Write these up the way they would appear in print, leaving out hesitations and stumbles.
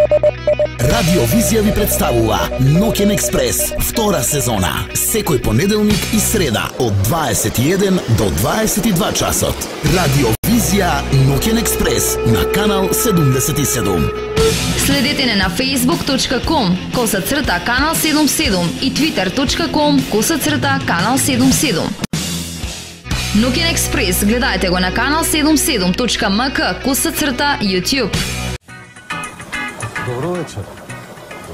Радио Визија ви представува Ноќен експрес, втора сезона. Секој понеделник и среда од 21 до 22 часот. Радио Визија Ноќен експрес на канал 77. Следете не на facebook.com/канал 77 и twitter.com/канал 77. Ноќен експрес гледајте го на канал 77.mk/YouTube. Добро вечер.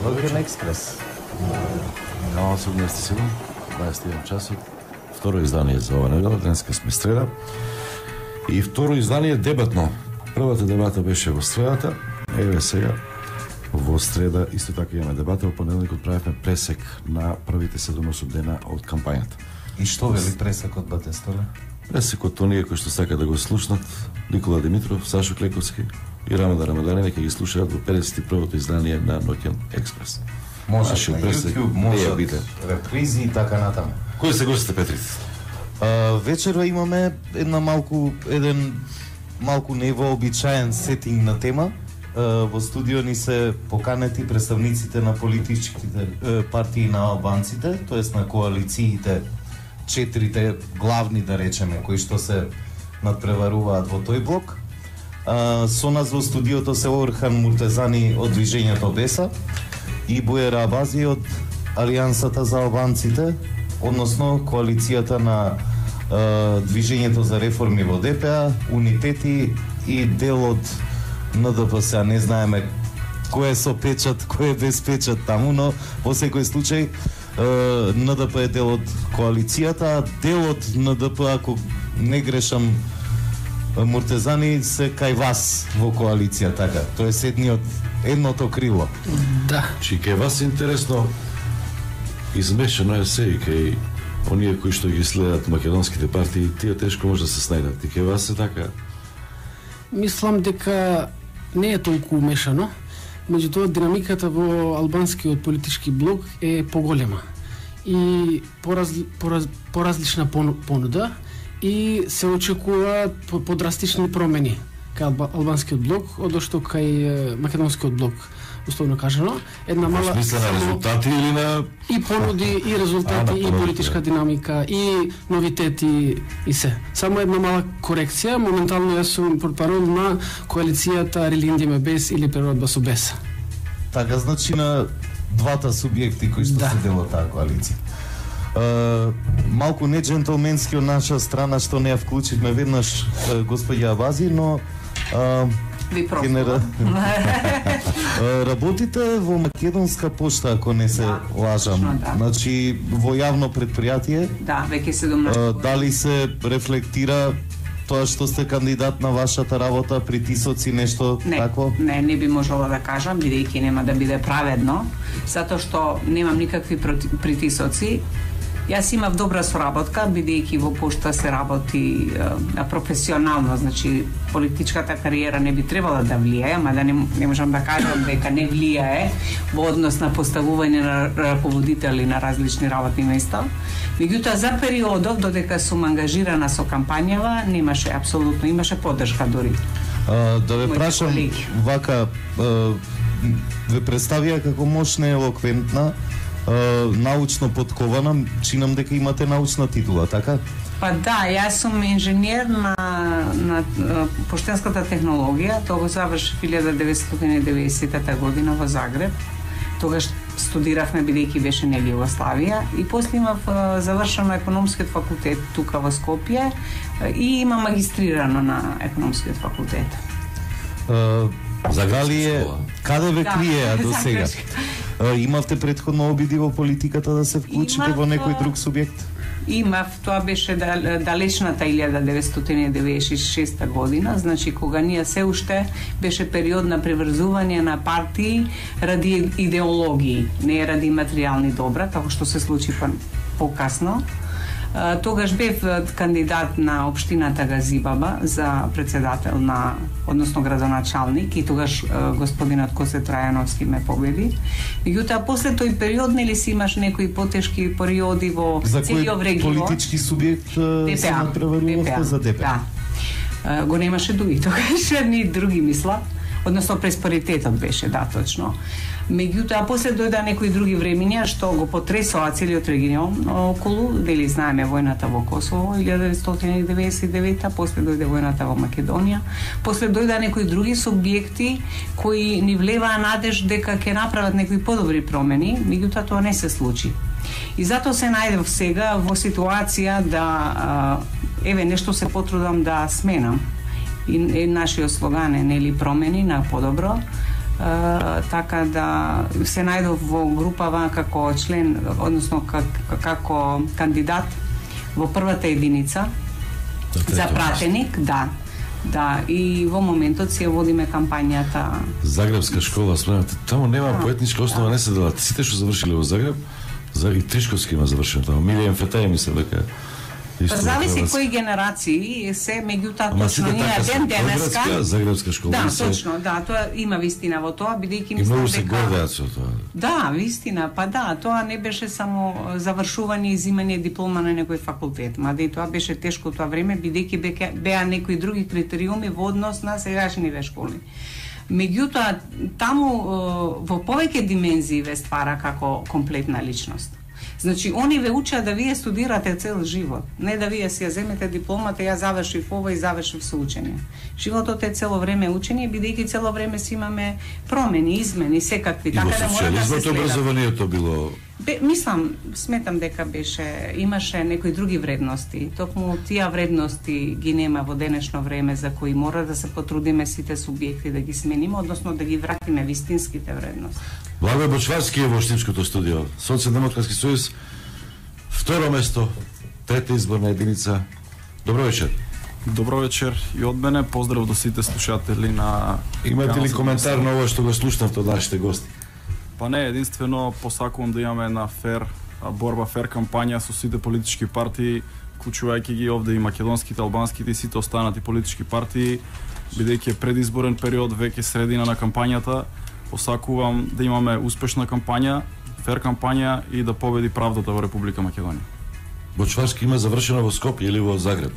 Ноќен експрес. Канал 77, 21 часот. Второ издание за ова недела, денеска сме среда. И второ издание дебатно. Првата дебата беше во средата, еве сега во среда исто така имаме дебата, во понеделникот правевме пресек на првите 7-8 дена од кампањата. И што вели пресекот, Батестоле? Пресекот оние кои што сака да го слушнат, Никола Димитров, Сашо Клековски и Рамада Рамаданин, ќе ги слушаат во 51-то издание на Ноќен експрес. Може на YouTube, може репризи и така натаму. Кои се гостите, Петрите? Вечерва имаме еден малку невообичаен сетинг на тема. Во студио ни се поканети представниците на политичките партии на албанците, тоест на коалициите, четирите главни, да речеме, кои што се надпреваруваат во тој блок. Со нас во студиото се Орхан Муртезани од Движењето Беса и Буера Абази од Алијансата за албанците, односно коалицијата на Движењето за реформи во ДПА, Унитети и дел од НДПС. Не знаеме кој е со печат, кој е без печат таму, но во секој случај НДП е дел од коалицијата, дел од НДП, ако не грешам, Муртезани се кај вас во коалиција, така. Тоест едното крило. Да. Чи кај вас интересно измешано е се и кај оние кои што ги следат македонските партии, тие тешко може да се снајдат. И кај вас е така? Мислам дека не е толку умешано, меѓутоа динамиката во албанскиот политички блок е поголема и поразлична понуда и се очекуваат подрастични промени кај албанскиот блок, одошто кај македонскиот блок, условно кажано. Една мала смисла на резултати или на и понуди, и резултати, и политичка динамика, и новитети и се. Само една мала корекција, моментално јас сум портпарол на коалицијата Релиндиме без или Природба со Беса. Така, значи на двата субјекти кои што се дел од таа коалиција. Малку не джентлменски од наша страна што не ја вклучивме веднаш господја Абази, но ви просто. Работите во Македонска пошта, ако не се лажам. Да. Значи во јавно предпријатие. Да, веќе 17 дали се рефлектира тоа што сте кандидат на вашата работа, притисоци, нешто такво? Не би можела да кажам, бидејќи нема да биде праведно, затоа што немам никакви притисоци. Јас имав добра соработка, бидејќи во пошта се работи професионално, значи политичката кариера не би требала да влијае, ама да не можам да кажам дека не влијае во однос на поставување на раководители на различни работни места. Меѓутоа, за периодов, додека сум ангажирана со кампањава, немаше апсолутно, имаше поддршка дури. Да ве прашам, вака, ве представија како мощна и елоквентна, научно подкована, чинам дека имате научна титула, така? Па да, јас сум инженер на поштенската технологија, тоа го завршив 1990 година во Загреб. Тогаш студиравме, бидејќи беше нели Југославија, и после имав завршено економскиот факултет тука во Скопје и имам магистрирано на економскиот факултет. Каде ве криеа до сега? Имавте предходно обиди во политиката да се вклучите во некој друг субјект? Имав, тоа беше далечната 1996 година, значи кога ние се уште беше период на преврзување на партии ради идеологии, не ради материјални добра, како што се случи покасно. Тогаш бев кандидат на општината Газибаба за председател на, односно градоначалник, и тогаш господинот Косе Трајановски ме победи. Меѓутоа, после тој период, нели си имаш некои потешки периоди во целиот регион. За кој политички субјект се надпреварувавте? За ДПА? Да. Го немаше дуи тогаш, ни други мисла. односно пресперитетот беше, да, точно. Меѓутоа, после дојда некои други времиња што го потресоа целиот регион околу, дали знаеме војната во Косово 1999, после дојде војната во Македонија, после дојда некои други субјекти кои ни влеваа надеж дека ќе направат некои подобри промени, меѓутоа тоа не се случи. И затоа се најдев сега во ситуација да еве нешто се потрудам да сменам. И нашиот слоган е нели промени на подобро. Така да се најдов во групава како член, односно како кандидат во првата единица за пратеник, да, и во моментот си ја водиме кампањата. Загребска школа, спомнате, таму нема поетничка основа, не се делат. Сите што завршиле во Загреб, и Тришковски има завршено таму. Милијан Фетај мислам дека зависи кои генерации се, меѓутоа точно ние ден денеска Загребска школа. Да, точно, да, тоа има вистина во тоа, бидејќи мислам дека многу се гордеат со тоа. Да, вистина, па да, тоа не беше само завршување и земање диплома на некој факултет, мада и тоа беше тешко тоа време, бидејќи беа некои други критериуми во однос на сегашниве школи. Меѓутоа, таму во повеќе димензии ве ствара како комплетна личност. Значи, они ве учат да вие студирате цел живот, не да вие си ја земете дипломата, ја завршив ова и завршив со учење. Животот е цело време учење, бидејќи цело време си имаме промени, измени, секакви, така да мора да се следат. Образованието било сметам дека имаше некои други вредности. Токму тие вредности ги нема во денешно време, за кои мора да се потрудиме сите субјекти да ги смениме, односно да ги вратиме вистинските вредности. Благој Бочварски е во Штипското студио. Социјалдемократски сојуз, второ место, трета изборна единица. Добро вечер. Добро вечер и од мене. Поздрав до сите слушатели на... Имате ли коментар на ова што го слушнавте од нашите гости? Па не, единствено посакувам да имаме една борба, фер кампања со сите политички партии, вклучувајќи ги овде и македонските, албанските и сите останати политички партии, бидејќи е предизборен период, веќе средина на кампањата. Посакувам да имаме успешна кампања, фер кампања и да победи правдата во Република Македонија. Бочварски има завршено во Скопје или во Загреб?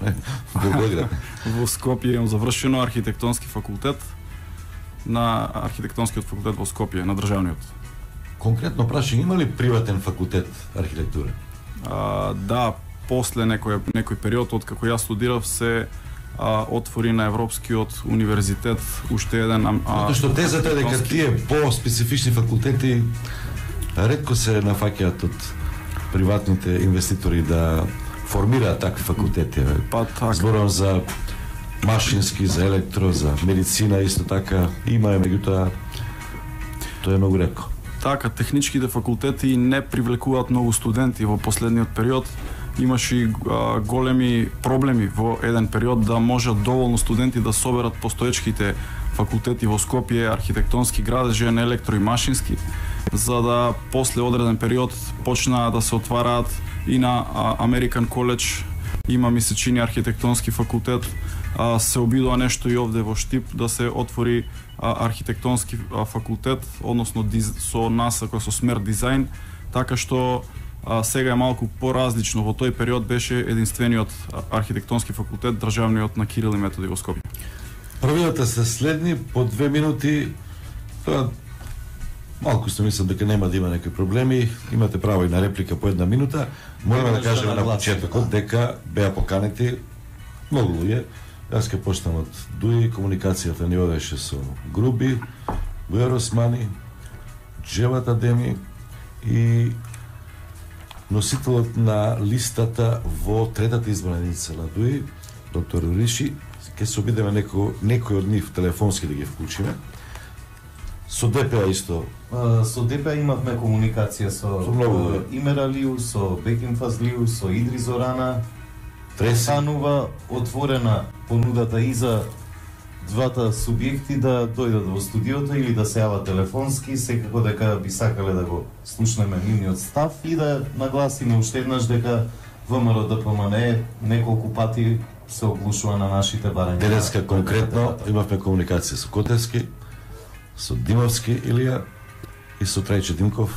Во Белград? Во Скопје имам завршено архитектонски факултет на архитектонскиот факултет во Скопје, на државниот. Конкретно прашање, има ли приватен факултет архитектура? Да, после некој период од како јас студирав се отвори на Европскиот универзитет уште еден Затоа што тезата е дека тие по-специфични факултети ретко се нафаќаат од приватните инвеститори да формираат такви факултети. Па така. Зборам за машински, за електро, за медицина исто така има, меѓутоа тоа е многу ретко. Така, техничките факултети не привлекуваат многу студенти во последниот период. Имаше големи проблеми во еден период да можат доволно студенти да соберат постоечките факултети во Скопје, архитектонски, градежен, електро и машински, за да после одреден период почнаа да се отвараат и на American College, има ми се чини архитектонски факултет, се обидува нешто и овде во Штип да се отвори архитектонски факултет, односно со насока со смер дизајн, така што сега е малку поразлично. Во тој период беше единствениот архитектонски факултет, државниот на Кирил и Методи во Скопје. Правилата се следни, по 2 минути. Тоа малку се мислам дека нема да има некои проблеми. Имате право и на реплика по 1 минута. Мораме да кажеме на почетокот дека беа поканети многу луѓе. Јас ќе почнам од Дуи, комуникацијата ни одеше со Груби, Бујар Османи, Джеват Адеми и носителот на листата во третата изборна единица на Дуи, доктор Риши. Ќе се обидеме некој од нив телефонски да ги вклучиме. Со ДПА исто. Со ДПА имавме комуникација со Имералиу, со Беким Фазлиу, со Идри Зорана. Тресанува отворена понудата и за двата субјекти да дојдат во студиото или да се јават телефонски, секако дека би сакале да го слушнеме нивниот став и да нагласиме уште еднаш дека ВМРО ДПМН неколку пати се оглушува на нашите барања. Денеска конкретно имавме комуникација со Котевски, со Димовски Илија и со Трајче Димков.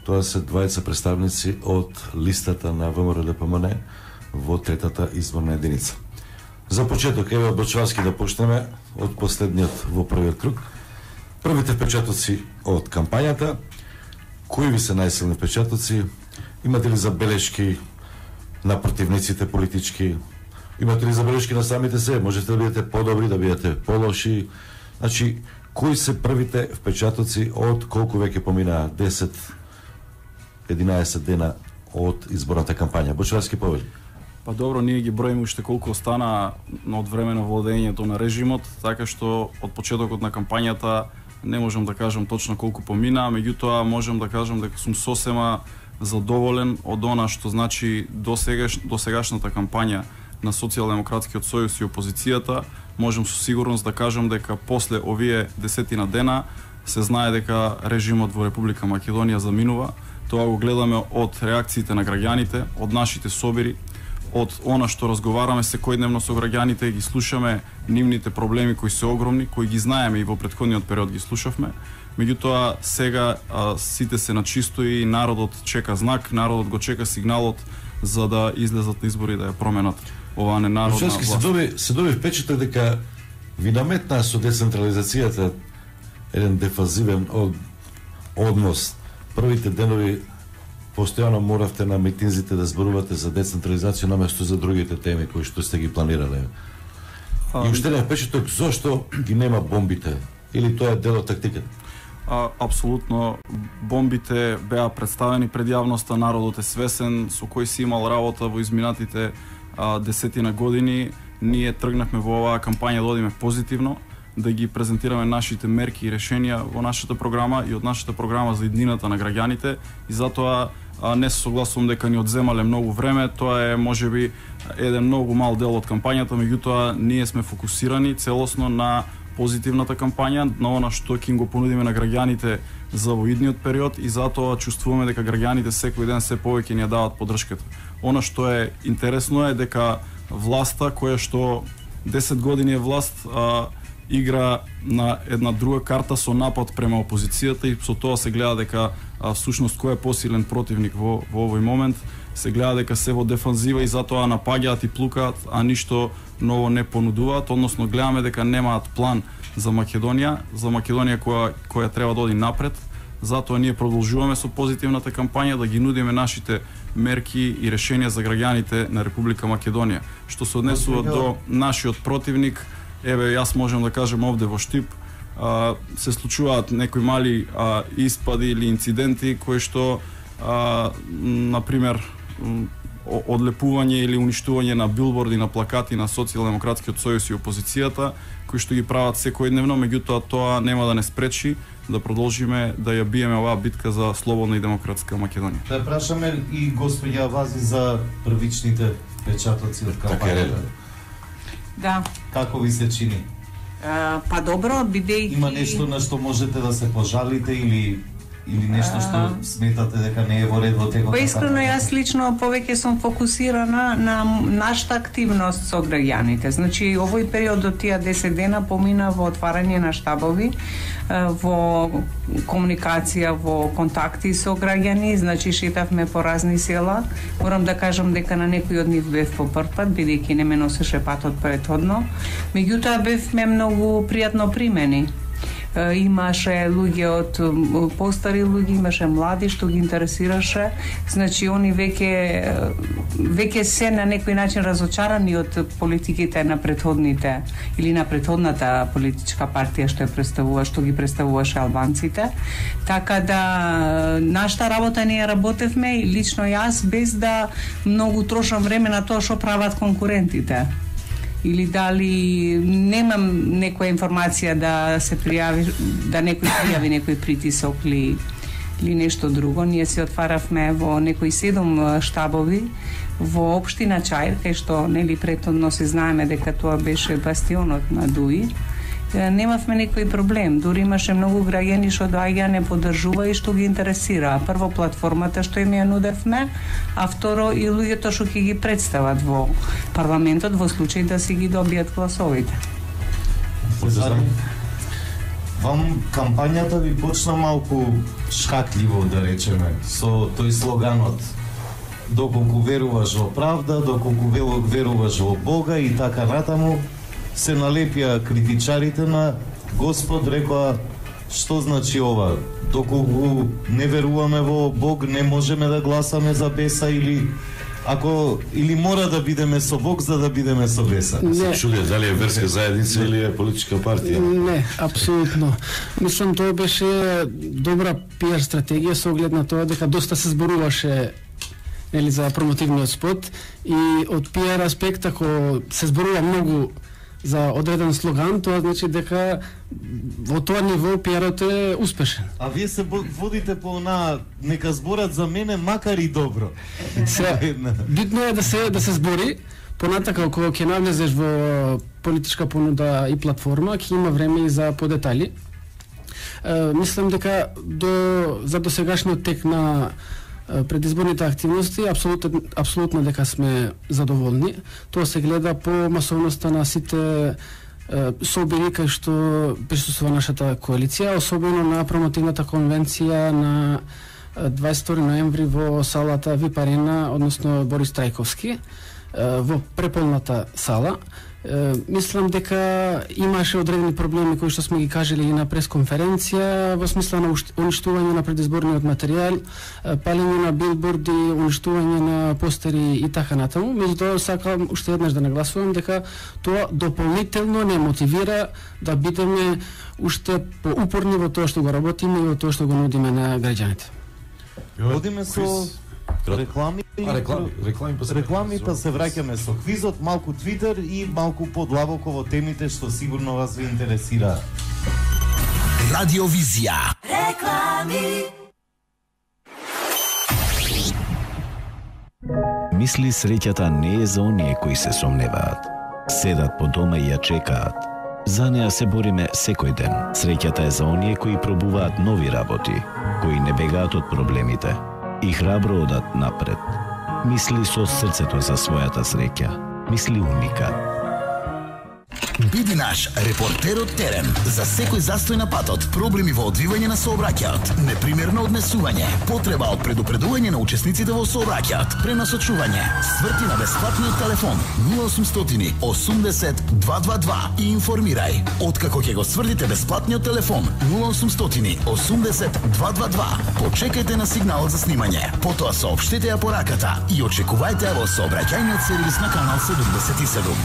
Тоа се двајца представници од листата на ВМРО ДПМН во третата изборна единица. За почеток, еве Бочварски да почнеме од последниот во првиот круг. Првите впечатоци од кампањата, кои ви се најсилни впечатоци? Имате ли забелешки на противниците политички? Имате ли забелешки на самите се? Можете да бидете подобри, да бидете полоши? Значи, кои се првите впечатоци од колку веќе поминаа 10-11 дена од изборната кампања? Бочварски повели. Па добро, ние ги броиме уште колку остана од време на владењето на режимот, така што од почетокот на кампањата не можам да кажам точно колку помина, меѓутоа можам да кажам дека сум сосема задоволен од она што значи досегашната кампања на Социјалдемократскиот сојуз и опозицијата. Можам со сигурност да кажам дека после овие 10 дена се знае дека режимот во Република Македонија заминува. Тоа го гледаме од реакциите на граѓаните, од нашите собири, од она што разговараме секојдневно со граѓаните, ги слушаме нивните проблеми кои се огромни, кои ги знаеме и во претходниот период ги слушавме. Меѓутоа сега сите се на чисто и народот чека знак, народот го чека сигналот за да излезат на избори да ја променат оваа ненародна власт. Се доби впечаток дека ви наметнаа со децентрализацијата еден дефазивен однос. Првите денови постојано моравте на митинзите да зборувате за децентрализација наместо за другите теми кои што сте ги планирале. И уште не впечаток зошто ги нема бомбите или тоа е дел од тактиката? Апсолутно, бомбите беа представени пред јавноста, народот е свесен со кој си имал работа во изминатите 10 години. Ние тргнавме во оваа кампања да одиме позитивно, да ги презентираме нашите мерки и решенија во нашата програма и од нашата програма за иднината на граѓаните, и затоа не се согласувам дека ни одземале многу време. Тоа е можеби еден многу мал дел од кампањата, меѓутоа ние сме фокусирани целосно на позитивната кампања, на она што ќе го понудиме на граѓаните за во идниот период, и затоа чувствуваме дека граѓаните секој ден се повеќе ни ја дават поддршката. Она што е интересно е дека власта која што 10 години е власт игра на една друга карта со напад према опозицијата, и со тоа се гледа дека всушност кој е посилен противник во овој момент. Се гледа дека се во дефанзива и затоа напаѓаат и плукаат, а ништо ново не понудуваат, односно гледаме дека немаат план за Македонија која треба да оди напред. Затоа ние продолжуваме со позитивната кампања да ги нудиме нашите мерки и решенија за граѓаните на Република Македонија. Што се однесува до нашиот противник, еве јас можам да кажем овде во Штип се случуваат некои мали испади или инциденти кои што например одлепување или уништување на билборди, на плакати на Социјалдемократскиот сојуз и опозицијата, кои што ги прават секојдневно, меѓутоа тоа нема да не спречи да продолжиме да ја биеме оваа битка за слободна и демократска Македонија. Да прашаме и господја Вази за првичните впечатоци од кампањата. Да. Како ви се чини? Па добро, бидејќи има нешто на што можете да се пожалите или нешто што сметате дека не е во ред во текот? Па искрено јас лично повеќе сум фокусирана на нашата активност со граѓаните. Значи овој период до тие 10 дена помина во отварање на штабови, во комуникација, во контакти со граѓани, значи шетавме по разни села. Морам да кажам дека на некој од нив бев по прв пат, бидејќи не ме носеше патот претходно. Меѓутоа бевме многу пријатно примени. Имаше луѓе од постари луѓе, имаше млади што ги интересираше. Значи они веќе се на некој начин разочарани од политиките на претходните или на претходната политичка партија што ги представуваше албанците. Така да нашата работа ние работевме и лично јас без да многу трошам време на тоа што прават конкурентите. Или дали немам некоја информација да се пријави, да некој пријави некој притисок или нешто друго. Ние се отваравме во некои 7 штабови во општина Чаир, кај што нели претhodно се знаеме дека тоа беше бастионот на ДУИ. Немавме некој проблем, дури имаше многу граѓани што доаѓа не поддржува и што ги интересира. Прво платформата што им ја нудевме, а второ и луѓето што ќе ги представат во парламентот во случај да си ги добијат гласовите. Вам кампањата ви почна малку шкакливо, да речеме, со тој слоганот доколку веруваш во правда, доколку веруваш во Бога и така натаму, се налепија критичарите на Господ, рекоа, што значи ова? Доколку не веруваме во Бог, не можеме да гласаме за беса или мора да бидеме со Бог за да бидеме со беса? Не. Чули, дали е верска заедница или е политичка партија? Не, апсолутно. Мислам, тоа беше добра пиар стратегија со оглед на тоа дека доста се зборуваше за промотивниот спот и од пиар аспект, ако се зборува многу за одреден слоган, тоа значи дека во тоа ниво пиарот е успешен. А вие се водите по она нека зборат за мене макар и добро. Битно е да се збори, понатака кога ќе навлезеш во политичка понуда и платформа, ќе има време и за подетали. Мислам дека за досегашниот тек на предизборните активности апсолутно дека сме задоволни. Тоа се гледа по масовноста на сите собери кај што присуствува нашата коалиција, особено на промотивната конвенција на 22 ноември во салата ВИП Арена, односно Борис Трајковски, во преполната сала. Мислам дека имаше одредени проблеми кои што сме ги кажали и на пресконференција во смисла на уништување на предизборниот материјал, палење на билборди, уништување на постери и така натаму. Меѓутоа сакам уште еднаш да нагласувам дека тоа дополнително не мотивира да бидеме уште поупорни во тоа што го работиме и во тоа што го нудиме на граѓаните. Одиме со реклами, па се враќаме со квизот, малку Твитер и малку подлабоко во темите што сигурно вас ви интересира. Радиовизија. Реклами. Мисли среќата не е за оние кои се сомневаат. Седат по дома и ја чекаат. За неа се бориме секој ден. Среќата е за оние кои пробуваат нови работи, кои не бегаат од проблемите и храбро одат напред. Мисли со срцето за својата среќа. Мисли Уникат. Биди наш репортер од терен за секој застој на патот, проблеми во одвивање на сообраќајот, непримерно однесување, потреба од предупредување на учесниците во сообраќајот, пренасочување, сврти на бесплатниот телефон 0800 80 222 и информирај. Откако ќе го сврдите бесплатниот телефон 0800 80 222, почекајте на сигналот за снимање, потоа соопштете ја пораката и очекувајте во сообраќајниот сервис на канал 77.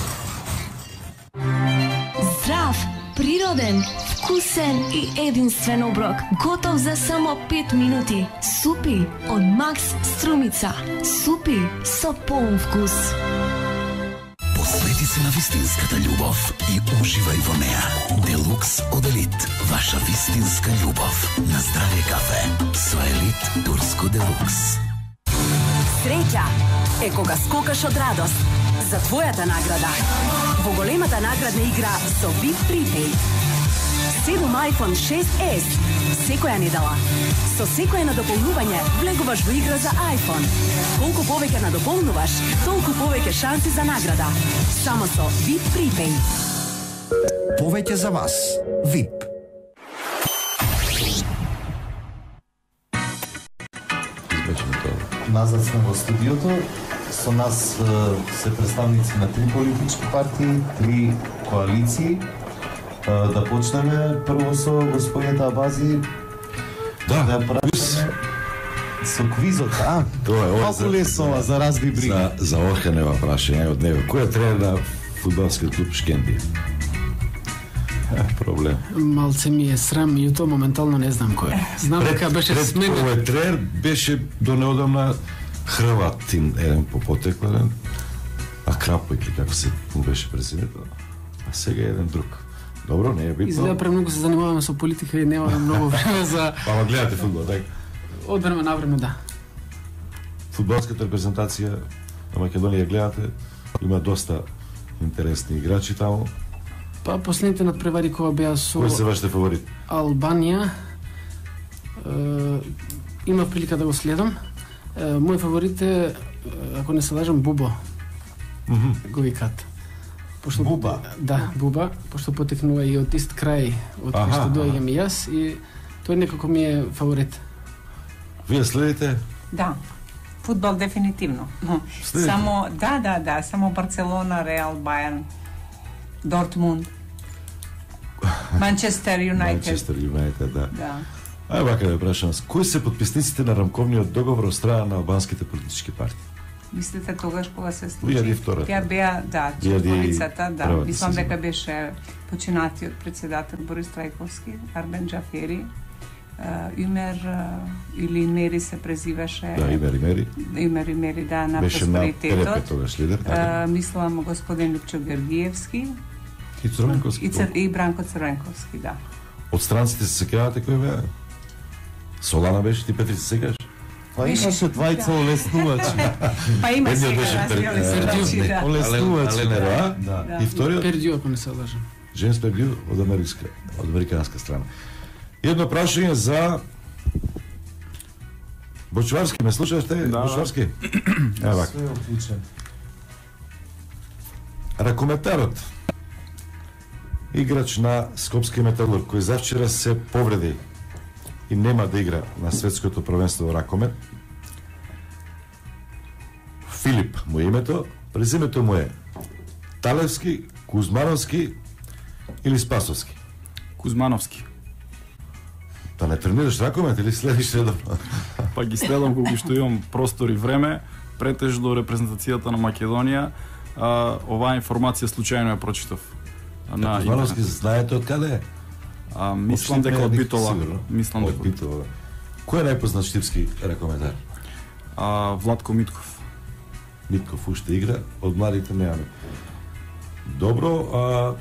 Здрав, природен, вкусен и единствен оброк, готов за само 5 минути. Супи од Макс Струмица. Супи со полн вкус. Посвети се на вистинската љубов и уживај во неа. Делукс од Елит, ваша вистинска љубов. На здравје кафе со Елит Турско Делукс. Среќа е кога скокаш од радост за твојата награда. Во големата наградна игра со VIP Prepaid. 7 iPhone 6s секоја недела. Со секое надополнување влегуваш во игра за iPhone. Колку повеќе надополнуваш, толку повеќе шанси за награда. Само со VIP Prepaid. Повеќе за вас. VIP. Назад сме во студиото. Со нас се представници на 3 политички партии, 3 коалиции. Да почнеме прво со господината Абази. Да прашаме со квизот, Тоа е малку лесно за разби брига. За Орханева прашање од него. Кој е тренер на фудбалскиот клуб Шкенди? Проблем. Малце ми е срам и тоа моментално не знам кој е. Знам дека беше сменен. Овој тренер беше до неодамна Хрватин, еден по потеклен, а Крапојки, како се му беше президент, а сега е еден друг. Добро, не е битно. Изгледа премногу се занимаваме со политика и немаме многу време за... Ама гледате фудбал, така? Од време на време, да. Фудбалската репрезентација на Македонија гледате, има доста интересни играчи таму. Па последните надпревари кога беа со... Кој се вашите фаворит? Албанија. Има прилика да го следам. Мој фаворит е, ако не се лажам, Бубо. Го викат. Буба? Да, Буба, пошто потекнува и од ист крај од кој што доаѓам и јас и тој некако ми е фаворит. Вие следите? Да. Фудбал дефинитивно. Само само Барселона, Реал, Бајерн, Дортмунд, Манчестер Юнајтед, да. Ај вака да прашам, кои се подписниците на рамковниот договор од страна на албанските политички партии? Мислите тогаш кога се случи? Таа беа, четворицата, мислам дека беше починатиот председател Борис Трајковски, Арбен Џафери, Юмер или Имери се презиваше. Да, Имери, на Просперитетот. Беше на ТРП тогаш лидер. Мислам господин Липчо Георгиевски. И Црвенковски. И Бранко Црвенковски, да. Од странците се сеќавате кој беа? Солана беше, ти Петри се сеќаш? Па имаше двајца олеснувачи. Па има сега олеснувачи, да. Олеснувачи. Аленероа, и вториот? Пердио, ако не се лажам. Джеймс Пердио од американска страна. Едно прашање за Бочварски, ме слушаш те? Да. Бочварски? Евак. Ракометарот, играч на Скопски Металург, кој завчера се повреди и нема да игра на светското првенство во ракомет. Филип му е името, презимето му е Талевски, Кузмановски или Спасовски? Кузмановски. Та не тренираш ракомет или следиш редовно? Па ги следам кога што имам простор и време, претежно репрезентацијата на Македонија. Оваа информација случајно ја прочитав. На Кузмановски знаете од каде е? Мислам дека од Битола. Мислам дека од Битола. Кој е најпознат штипски ракометар? Владко Митков. Митков уште игра, од младите немаме. Добро,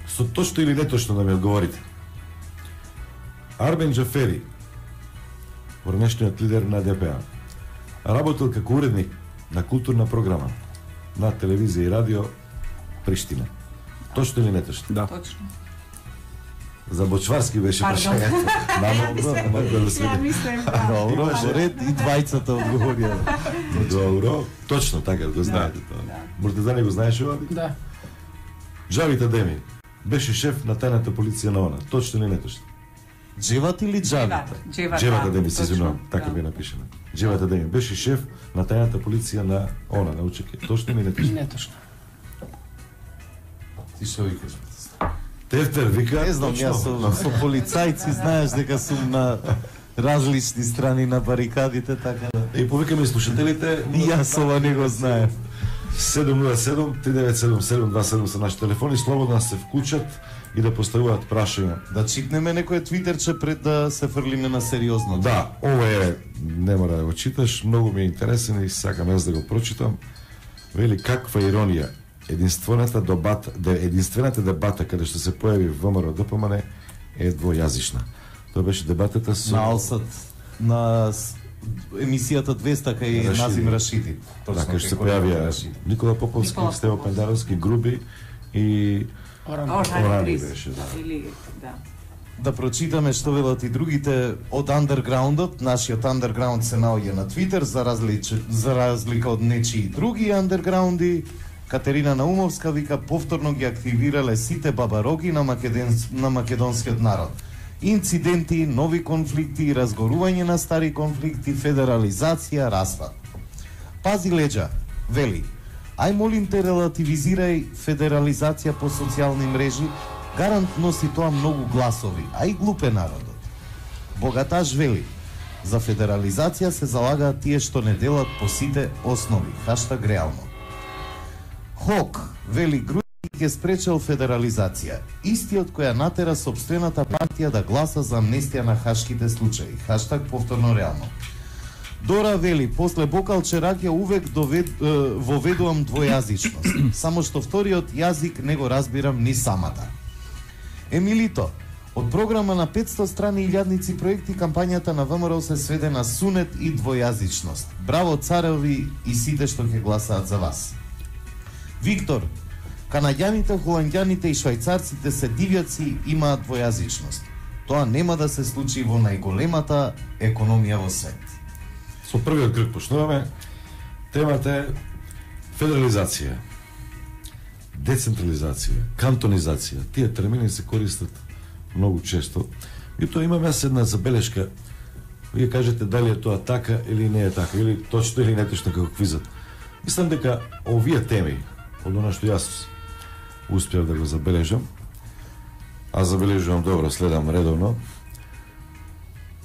со точно или неточно да ми одговорите. Арбен Џафери, поранешниот лидер на ДПА, работел како уредник на културна програма на телевизија и радио Приштина. Точно или неточно? Да. Точно. За Бочварски беше прашањето. Ја мислам, Добро, ред и двајцата одговорија. Добро, точно така го знаете тоа. Муртазани го знаеш ова? Да. Џавит Адеми беше шеф на тајната полиција на ОНА. Точно или неточно? Джеват или Џавит? Джеват Адеми, се извинувам, така би напишено. Џеват Адеми беше шеф на тајната полиција на ОНА, на УЧК. Точно или неточно? Неточно. Ти што викаш? Тефтер вика, не знам, јас со полицајци знаеш дека сум на различни страни на барикадите, така да. И повикаме слушателите, и јас ова не го знаев. 707-3977-227 се наши телефони, слободно да се вклучат и да поставуваат прашања. Да читнеме некој твитерче пред да се фрлиме на сериозно. Да, ова е, не мора да го читаш, многу ми е интересен и сакам јас да го прочитам. Вели, каква иронија. Единствената дебата каде што се појави ВМРО ДПМН е двојазична. Тоа беше дебатата со на Алсат, на емисијата 200 кај Назим Рашиди. Така што се појавија Никола Поповски, Стево Пендаровски, Груби и Орани беше, да. Да прочитаме што велат и другите од андерграундот. Нашиот андерграунд се наоѓа на Твитер, за разлика од нечии други андерграунди. Катерина Наумовска вика, повторно ги активирале сите бабароги на македонскиот народ. Инциденти, нови конфликти, разгорување на стари конфликти, федерализација, распад. Пази леđа, вели, ај молим те релативизирај федерализација по социјални мрежи, гарант носи тоа многу гласови, а и глупе народот. Богаташ вели, за федерализација се залагаат тие што не делат по сите основи. Хаштаг реално. Хок, вели, Грујќ ќе спречел федерализација. Истиот која натера сопствената партија да гласа за амнестија на хашките случаи. Хаштаг повторно реално. Дора вели, после Бокал Чераќа увек воведувам двојазичност. Само што вториот јазик не го разбирам ни самата. Емилито, од програма на 500 страни и илјадници проекти, кампањата на ВМРО се сведе на сунет и двојазичност. Браво цареви и сите што ќе гласаат за вас. Виктор, канаѓаните, холандјаните и швајцарците се дивјаци, имаат двојазичност. Тоа нема да се случи во најголемата економија во свет. Со првиот крг почнуваме. Темата е федерализација, децентрализација, кантонизација. Тие термини се користат многу често. И тоа имам јас една забелешка Вие кажете дали е тоа така или не е така, или точно или неточно како квизот. Мислам дека овие теми, од оно што јас успеав да го забележам, а забележувам добро, следам редовно,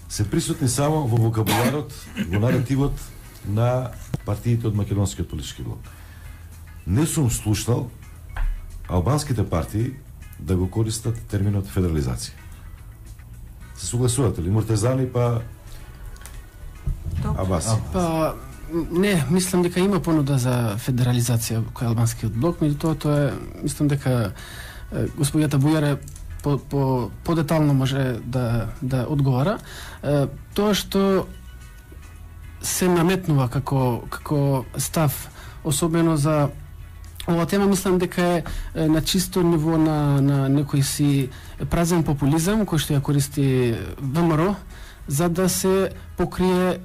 се присутни само во вокабуларот, во наративот на партиите од македонскиот политички блок. Не сум слушнал албанските партии да го користат терминот федерализација. Се согласувате ли? Муртезани па Абаси. Па не, мислам дека има понуда за федерализација кој албанскиот блок, меѓутоа тоа е, мислам дека господјата Бујаре по-детално може да одговара. Тоа што се наметнува како став, особено за ова тема, мислам дека е на чисто ниво на некој си празен популизам кој што ја користи ВМРО за да се покрие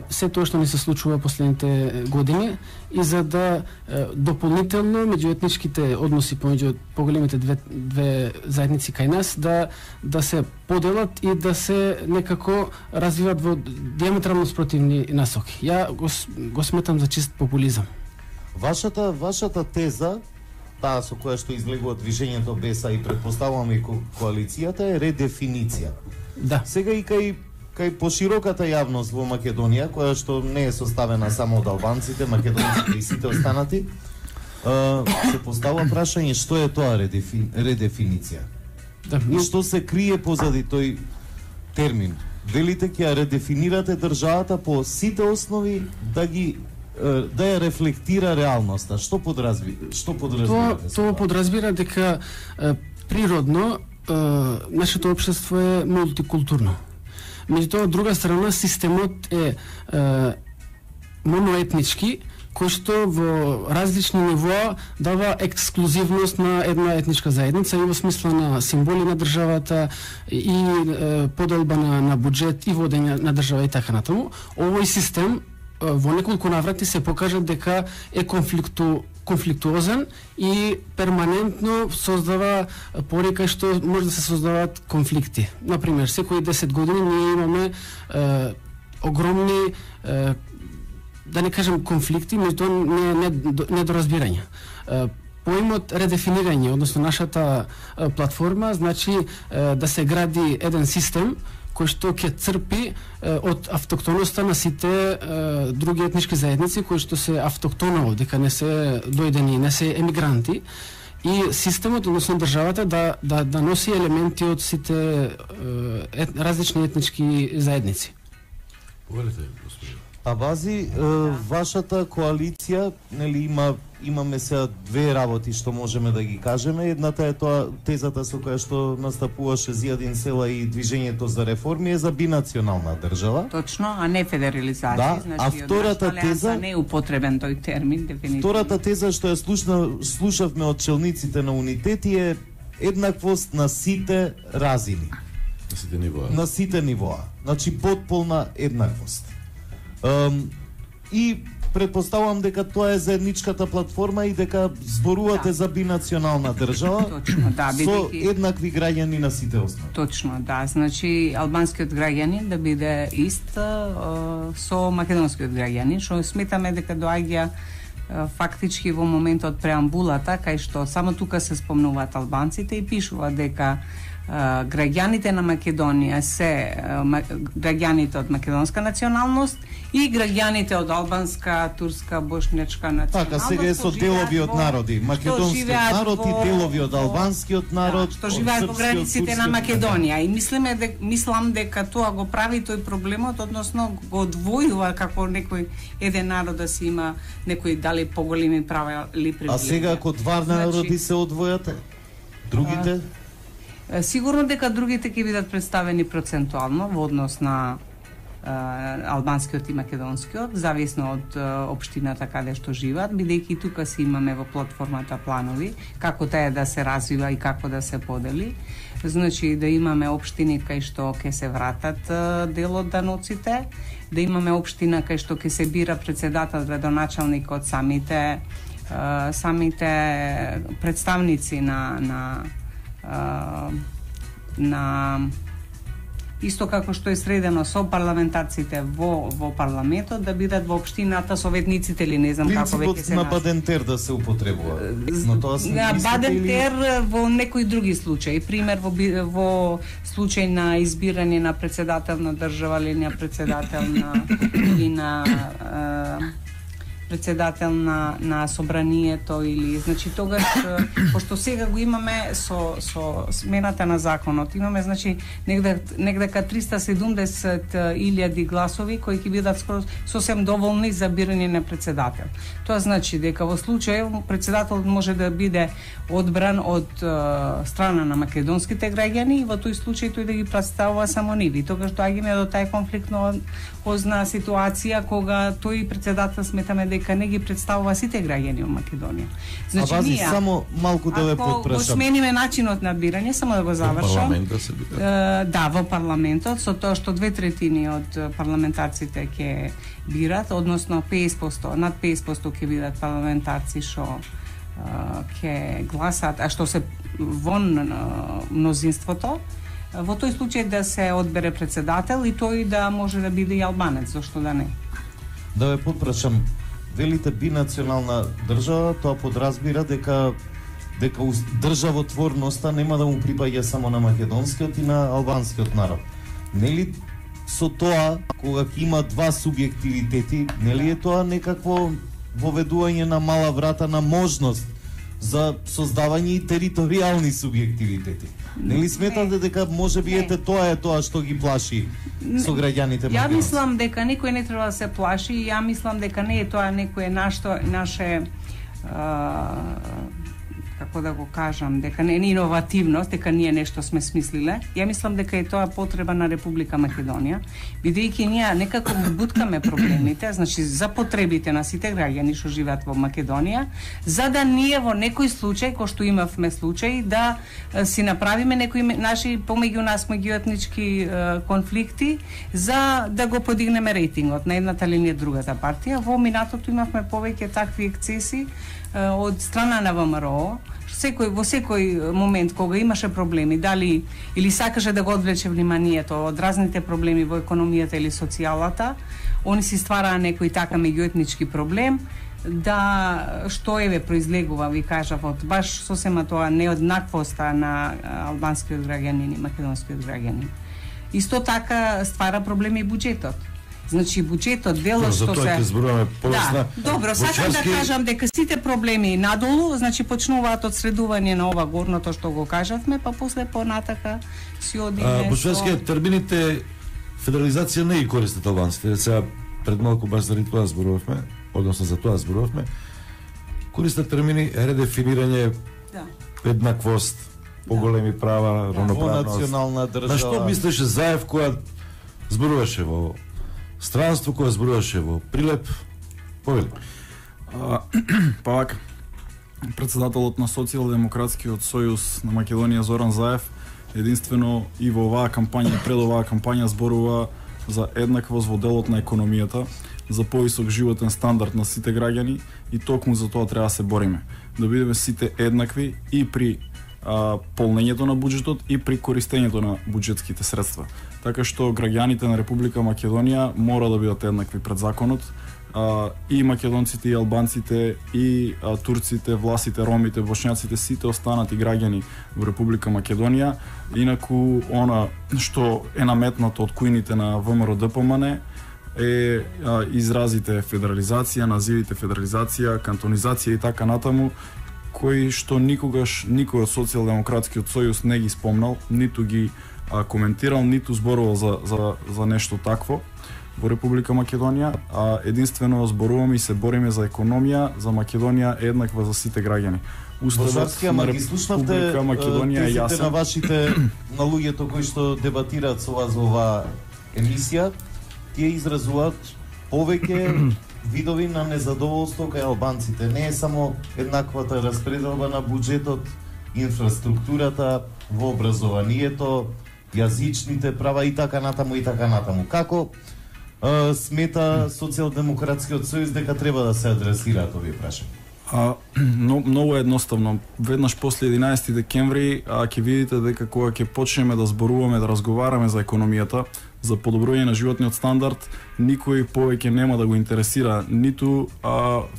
се тоа што ни се случува последните години и за да дополнително меѓуетничките односи помеѓу поголемите две заедници кај нас да се поделат и да се некако развиват во диаметрално спротивни насоки. Ја го сметам за чист популизам. Вашата теза, таа со која што излегува движењето БЕСА и претпоставувам и коалицијата е редефиниција. Да. Сега и кај пошироката јавност во Македонија, која што не е составена само од албанците, македонците и сите останати, се поставува прашање што е тоа редефиниција. Да, и што се крие позади тој термин. Велите ќе ја редефинирате државата по сите основи да ја рефлектира реалноста. Што подразбирате? Тоа подразбира дека природно нашето општество е мултикултурно. Меѓутоа, од друга страна, системот е моноетнички, кој што во различни нивоа дава ексклузивност на една етничка заедница и во смисла на символи на државата и поделба на буџет и водење на држава и така натаму. Овој систем во неколку наврати се покажа дека е конфликтуозен и перманентно создава порика што може да се создаваат конфликти. Например, секои 10 години ние имаме огромни да не кажем конфликти, меѓутоа недоразбирање. Поимот редефинирање, односно нашата платформа, значи да се гради еден систем кој што ќе црпи од автоктоноста на сите други етнички заедници кои што се автоктоново, дека не се дојдени, не се емигранти, и системот, односно државата да носи елементи од сите различни етнички заедници. Повелете, господин. Абази, вашата коалиција, нели имаме сега две работи што можеме да ги кажеме. Едната е тоа тезата со која што настапуваше Зијадин Села и движењето за реформи е за бинационална држава. Точно, а не федерализација. Да, значи, а втората теза не е употребен тој термин дефинитивно. Втората теза што ја слушавме од челниците на унитети е еднаквост на сите разини. На сите нивоа. На сите нивоа. Значи потполна еднаквост. И предпоставувам дека тоа е заедничката платформа и дека зборувате за бинационална држава. Точно, да, со еднакви граѓани на сите основи. Точно, да. Значи албанскиот граѓанин да биде ист со македонскиот граѓанин, што сметаме дека доаѓа фактички во моментот преамбулата, кај што само тука се спомнуваат албанците и пишува дека граѓаните на Македонија се граѓаните од македонска националност и граѓаните од албанска, турска, бошнечка националност. Така, сега е со делови од народи. Македонскиот народ и делови од албанскиот народ, што живеат во границите на Македонија. И мислам дека тоа го прави тој проблемот, односно го одвојува како некој еден народ да си има некои дали поголеми права или привилегии. А сега ако два народи се одвојат, другите? Сигурно дека другите ќе бидат представени процентуално во однос на албанскиот и македонскиот, зависно од општината каде што живеат, бидејќи тука си имаме во платформата планови како таа да се развива и како да се подели. Значи да имаме општини кај што ќе се вратат дел од даноците, да имаме општина кај што ќе се бира председател, градоначалник од самите исто како што е средено со парламентарците во парламентот, да бидат во општината советниците или не знам како веќе се на Бадентер да се употребува. Но тоа се Бадентер во некои други случаи, пример во случај на избирање на председател на држава или на председател на председател на собранието или значи тогаш пошто сега го имаме со смената на законот имаме значи негде 370.000 гласови кои ќе бидат сосем доволни за бирање на председател. Тоа значи дека во случај председателот може да биде одбран од страна на македонските граѓани и во тој случај тој да ги представува само нив. И тогаш доаѓаме до тај конфликтно ситуација кога тој председател сметаме дека не ги представува сите граѓани во Македонија. Значи ние само малку да ве потпрашам. Ако смениме начинот на бирање, само да го завршам. Да, во парламентот со тоа што 2/3 од парламентарците ќе бират, односно 50%, над 50% ќе бидат парламентарци што ќе гласат, а што се вон мнозинството. Во тој случај да се одбере председател и тој да може да биде и албанец, зашто да не? Да ве потпрашам, велите бинационална држава, тоа подразбира дека државотворноста нема да му припаѓа само на македонскиот и на албанскиот народ. Нели со тоа, кога има два субјективитети, нели е тоа некакво воведување на мала врата на можност за создавање и територијални субјективитети? Нели сметате дека можеби ете тоа е тоа што ги плаши со граѓаните македонски? Ја мислам дека никој не треба да се плаши и ја мислам дека не е тоа некое наше како да го кажам, дека не е иновативност, дека ние нешто сме смислиле. Ја мислам дека е тоа потреба на Република Македонија, бидејќи ние некако буткаме проблемите, значи за потребите на сите граѓани што живеат во Македонија, за да ние во некој случај, кој што имавме случај, да си направиме некои наши помеѓу нас меѓуетнички конфликти, за да го подигнеме рейтингот на едната или на другата партија. Во минатото имавме повеќе такви ексцеси од страна на ВМРО, во секој момент кога имаше проблеми, дали или сакаше да го одвлече вниманието од разните проблеми во економијата или социјалата, они си ствараа некој така меѓуетнички проблем, да што еве произлегува, ви кажав, од баш сосема тоа неоднаквоста на албанскиот граѓанин и македонскиот граѓанин. Исто така ствара проблеми буџетот. Значи буџетот делот што се Да, добро, сакам да кажам дека сите проблеми надолу, значи почнуваат од средување на ова горното што го кажавме, па после понатака си одиме. Бучевски термините федерализација не ги користат албанците. Сега пред малку баш заради тоа зборувавме, односно за тоа зборувавме. Користат термини редефинирање, еднаквост, поголеми права, равноправност. Национална држава. На што мислеше Заев која зборуваше во странство, која зборуваше во Прилеп? Повели. Па вака, председателот на Социјалдемократскиот сојуз на Македонија Зоран Заев единствено и во оваа кампања и пред оваа кампања зборува за еднаквост во делот на економијата, за повисок животен стандард на сите граѓани и токму за тоа треба да се бориме. Да бидеме сите еднакви и при полнењето на буџетот и при користењето на буџетските средства. Така што граѓаните на Република Македонија мора да бидат еднакви пред законот, и македонците, и албанците, и турците, власите, ромите, бошњаците, сите останати граѓани во Република Македонија. Инаку, она што е наметнато од кујните на ВМРО ДПМН е изразите федерализација, називите федерализација, кантонизација и така натаму, кои што никогаш никој од Социјалдемократскиот сојуз не ги спомнал, ниту ги коментирал, ниту зборувал за нешто такво во Република Македонија, а единствено зборуваме и се бориме за економија, за Македонија еднаква за сите граѓани. Уставот на Република Македонија е јасен. На вашите на луѓето кои што дебатираат со вас во оваа емисија, тие изразуваат повеќе видови на незадоволство кај албанците. Не е само еднаквата распределба на буџетот, инфраструктурата, во образованието, јазичните права и така натаму и така натаму. Како смета Социјалдемократскиот сојуз дека треба да се адресираат овие прашања? Многу едноставно. Веднаш после 11 декември ќе видите дека кога ќе почнеме да зборуваме, да разговараме за економијата, за подобрување на животниот стандард, никој повеќе нема да го интересира ниту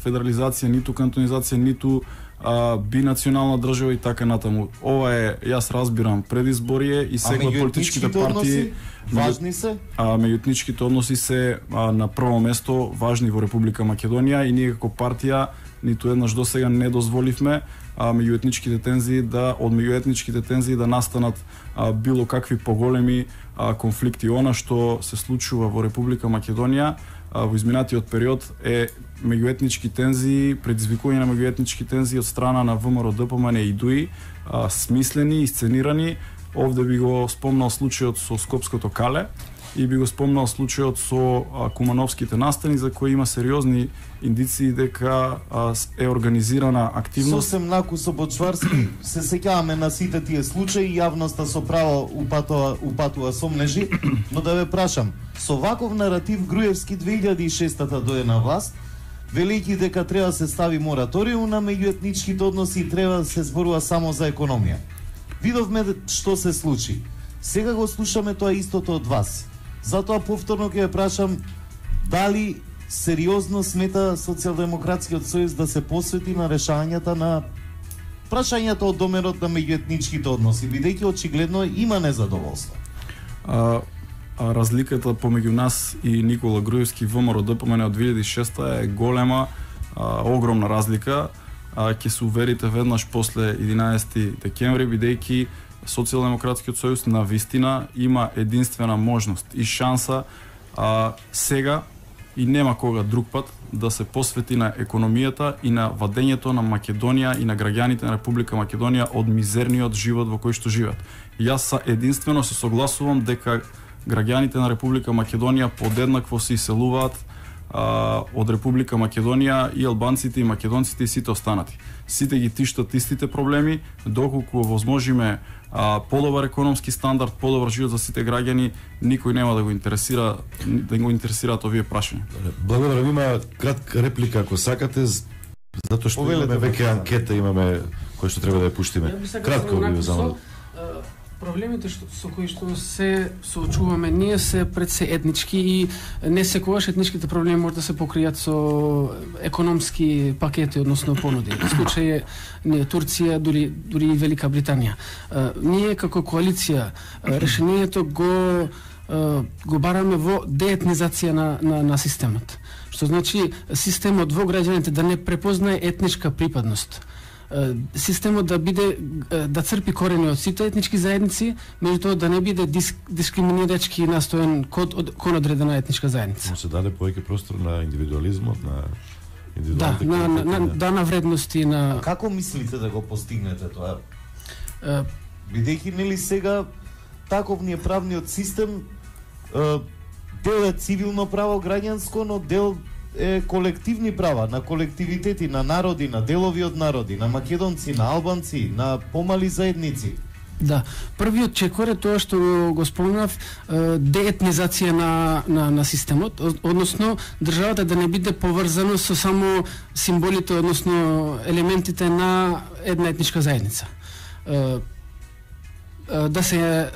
федерализација, ниту кантонизација, ниту бинационална држава и така натаму. Ова е, јас разбирам, предизборие и сега политичките партии важни се? Меѓуетничките односи се на прво место важни во Република Македонија и ние како партија ниту еднаш досега не дозволивме од меѓуетничките тензии да настанат било какви поголеми конфликти. Она што се случува во Република Македонија во изминатиот период е меѓуетнички тензии, предизвикување на меѓуетнички тензии од страна на ВМРО ДПМН и ДУИ, смислени, исценирани. Овде би го спомнал случајот со Скопското кале и би го спомнал случајот со Кумановските настани, за кои има сериозни индиции дека е организирана активност. Сосем накусо Бочварски, се сеќаваме на сите тие случаи, јавноста со право упатува сомнежи, но да ве прашам, со ваков наратив Груевски 2006-та дое на власт, велики дека треба да се стави мораториум на меѓуетничките односи и треба да се зборува само за економија. Видовме што се случи. Сега го слушаме тоа истото од вас. Затоа повторно ќе ја прашам дали сериозно смета Социјалдемократскиот сојуз да се посвети на решањата на прашањата од доменот на меѓуетничките односи, бидејќи очигледно има незадоволство. Разликата помеѓу нас и Никола Груевски ВМРО ДПМН од 2006 е голема, огромна разлика. Ќе се уверите веднаш после 11 декември, бидејќи Социјалдемократскиот сојуз на вистина има единствена можност и шанса сега и нема кога друг пат да се посвети на економијата и на вадењето на Македонија и на граѓаните на Република Македонија од мизерниот живот во кој што живеат. Јас единствено се согласувам дека граѓаните на Република Македонија подеднакво се иселуваат од Република Македонија и албанците и македонците и сите останати. Сите ги тиштат истите проблеми, доколку возможиме подобар економски стандард, подобар живот за сите граѓани, никој нема да го интересираат овие прашања. Благодарам, има кратка реплика ако сакате, затоа што имаме веќе анкета, имаме кој што треба да ја пуштиме. Кратко ви замолам. Проблемите со кои што се соочуваме ние се пред се етнички и не секогаш етничките проблеми може да се покријат со економски пакети, односно понуди. Во случај е Турција, дури и Велика Британија. Ние како коалиција решението го бараме во деетнизација на системот. Што значи системот во граѓаните да не препознае етничка припадност. Системот да црпи корени од сите етнички заедници, меѓутоа да не биде дискриминирачки настоен кон одредена етничка заедница. Се даде повеќе простор на индивидуализмот, на индивидуалните на вредности на. Како мислите да го постигнете тоа? Бидејќи нели сега таков ни е правниот систем, дел е цивилно право граѓанско, но дел е колективни права на колективитети, на народи, на делови од народи, на македонци, на албанци, на помали заедници. Да, првиот чекор е тоа што го спомнав, деетнизација на системот, односно државата да не биде поврзано со само символите, односно елементите на една етничка заедница. Да се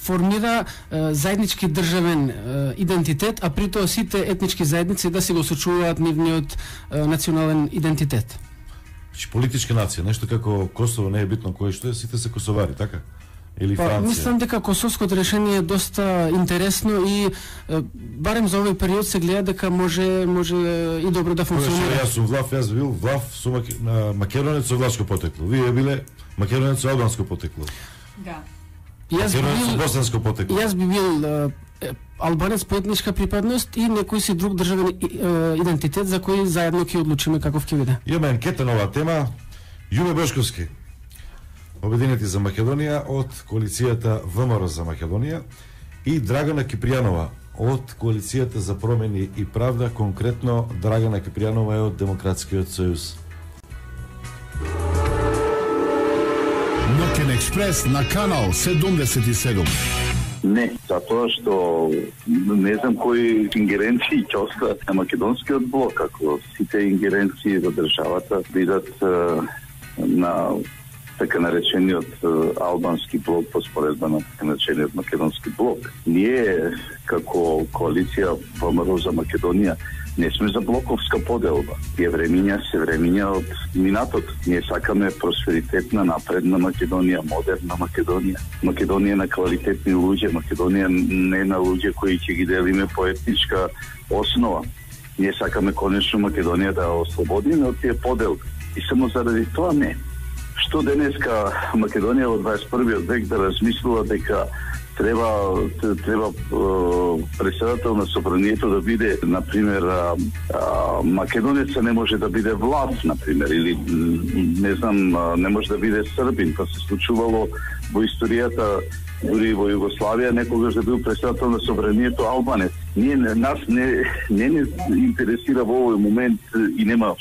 формира заеднички државен идентитет, а при тоа сите етнички заедници да си го сочуваат нивниот национален идентитет. Политичка нација, нешто како Косово не е битно кој што е, сите се косовари, така? Или Франција? Мислам дека косовското решение е доста интересно и барем за овој период се гледа дека може и добро да функционира. Јас сум јас бил влав со македонец со влашко потекло. Вие биле македонец со албанско потекло. Да. Јас би бил албанец по етничка припадност и некој си друг државен идентитет за кој заедно ќе одлучиме каков ќе биде. Имаме анкета на оваа тема. Јуме Бошковски, Обединети за Македонија од коалицијата ВМРО за Македонија и Драгана Кипријанова од коалицијата за промени и правда, конкретно Драгана Кипријанова е од Демократскиот сојуз. Ноќен експрес на канал 77. Не, затоа што не знам кои ингеренции ќе остават на македонскиот блок, ако сите ингеренции во државата бидат на така наречениот албански блок по споредба на така наречениот македонски блок. Ние како коалиција ВМРО за Македонија не сме за блоковска поделба. Тие времиња се времиња од минатот. Ние сакаме просперитетна, напредна Македонија, модерна Македонија. Македонија на квалитетни луѓе, Македонија не на луѓе кои ќе ги делиме по етничка основа. Ние сакаме конечно Македонија да ослободиме од тие поделби. И само заради тоа не. Што денеска Македонија во 21. век да размислува дека треба председател на собранието да биде, например, македонеца не може да биде власт, например, или не знам, не може да биде србин, па се случувало во историјата дури во Југославија некогаш да бил председател на собранието албанец. Нас не интересира во овој момент и нема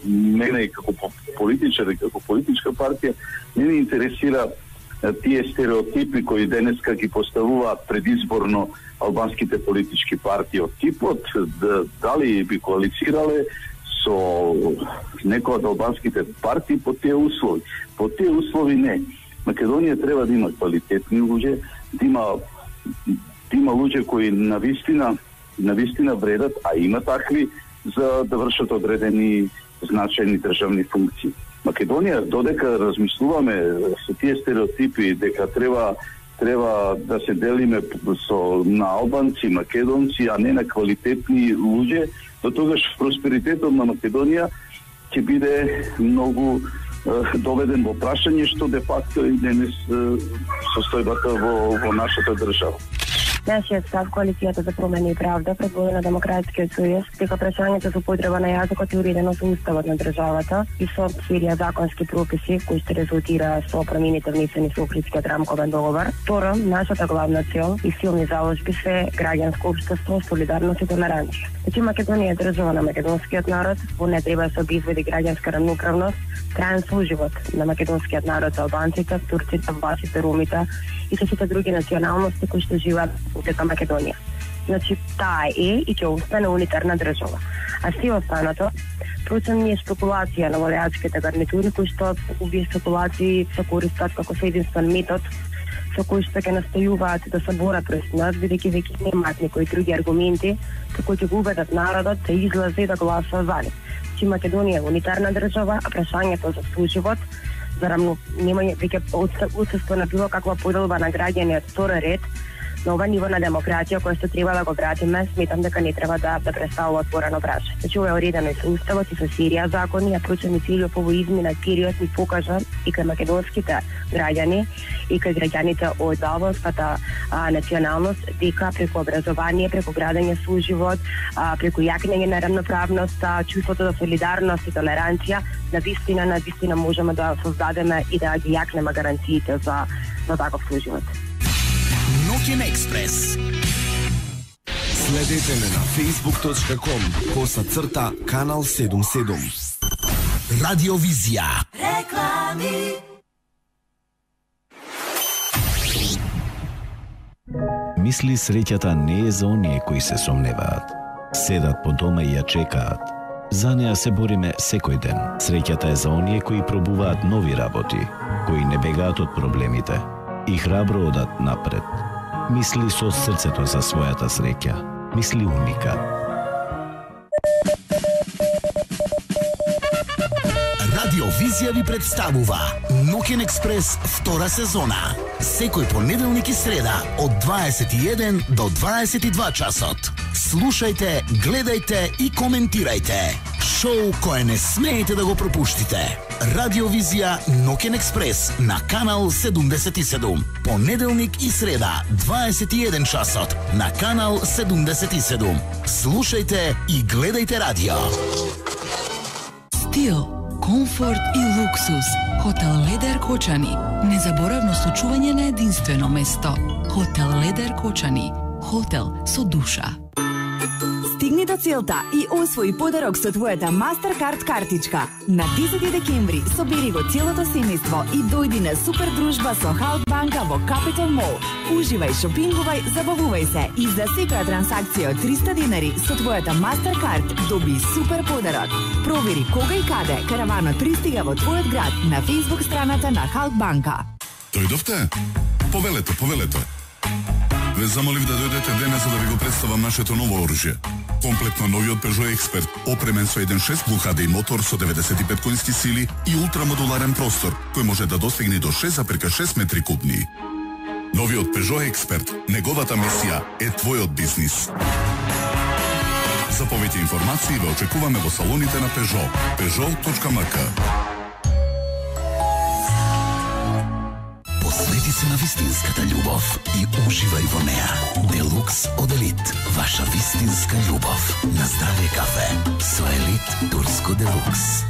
мене како политичар и како политичка партија не ме интересира тие стереотипи кои денеска ги поставуваат предизборно албанските политички партии од типот дали би коалицирале со некоја од албанските партии по тие услови. По тие услови не. Македонија треба да има квалитетни луѓе, да има луѓе кои навистина вредат, а има такви за да вршат одредени значајни државни функции. Македонија, додека размислуваме со тие стереотипи дека треба да се делиме на албанци, македонци, а не на квалитетни луѓе, до тогаш просперитетот на Македонија ќе биде многу доведен во прашање, што де факто и денес состојбата во нашата држава. Нашиот став коалицијата за промени и правда предводи на Демократскиот сојуз дека прашањето за употреба на јазикот е уредено со уставот на државата и со серија законски прописи кои ще резултира со промените внесени со Охридскиот рамковен договор. Второ, нашата главна цел и силни заложби се граѓанско општество, солидарност и толеранција. Значи Македонија е држава на македонскиот народ, во не треба да се обезвреди граѓанска рамноправност, траен соживот на македонскиот народ за албанците, турците, власите, ромите и со сите други националности кои што живеат во Македонија. Значи, таа е и ќе остане унитарна држава. А се останато, проценни е спекулација на владеачките гарнитури, кои што овие спекулации се користат како со единствен метод, со кои што ќе настојуваат да се борат против нас, бидејќи веќе немаат некои други аргументи, со кои ќе го убедат народот да излезе и да гласа за нив. Значи, Македонија е унитарна држава, а прашањето за соживот, за немање веќе отсутство на било каква поделба на граѓани од втора ред, на ова ниво на демократија која што треба да го вратиме, сметам дека не треба да представува отворено прашање. Значи, ова е уредено и со уставот и со серија закони, а прочени целиот овој измина период ни покажа и кај македонските граѓани и кај граѓаните од албанската националност дека преку образование, преку градење соживот, преку јакнење на рамноправност, чувството за солидарност и толеранција, навистина можеме да создадеме и да ги јакнеме гаранциите за таков соживот. Ноќен експрес. Следете ме на facebook.com/канал 77. Радиовизија. Реклами. Мисли среќата не е за оние кои се сомневаат. Седат по дома и ја чекаат. За неа се бориме секој ден. Среќата е за оние кои пробуваат нови работи, кои не бегаат од проблемите и храбро одат напред. Мисли со срцето за својата среќа. Мисли Уника. Радиовизија ви представува Ноќен експрес втора сезона. Секој понеделник и среда од 21 до 22 часот. Слушајте, гледајте и коментирајте. Шоу кое не смеете да го пропуштите. Радиовизија Ноќен експрес на канал 77. Понеделник и среда 21 часот на канал 77. Слушајте и гледајте радио. Стил, комфорт и луксус. Хотел Ледер Кочани. Незаборавно случување на единствено место. Хотел Ледер Кочани. Хотел со душа. Стигни до целта и освои подарок со твојата Mastercard картичка. На 10 декември собери го целото семејство и дојди на супер дружба со Халк банка во Capital Mall. Уживај, шопингувај, забавувај се и за секоја трансакција од 300 денари со твојата Mastercard доби супер подарок. Провери кога и каде караванот пристига во твојот град на Facebook страната на Халк банка. Дојдовте? Повелето. Ве замолив да дојдете денес за да ви го представам нашето ново оружје. Комплетно новиот Peugeot Expert, опремен со 1.6 Blue HD мотор со 95 конски сили и ултрамодуларен простор, кој може да достигне до 6,6 метри кубни. Новиот Peugeot Expert, неговата мисија е твојот бизнис. За повеќе информации ве очекуваме во салоните на Peugeot. Peugeot.mk. Посвети се на вистинската љубов и уживај во неа. Делукс од Елит. Ваша вистинска љубов. На здравје кафе. Со Елит Турско Делукс.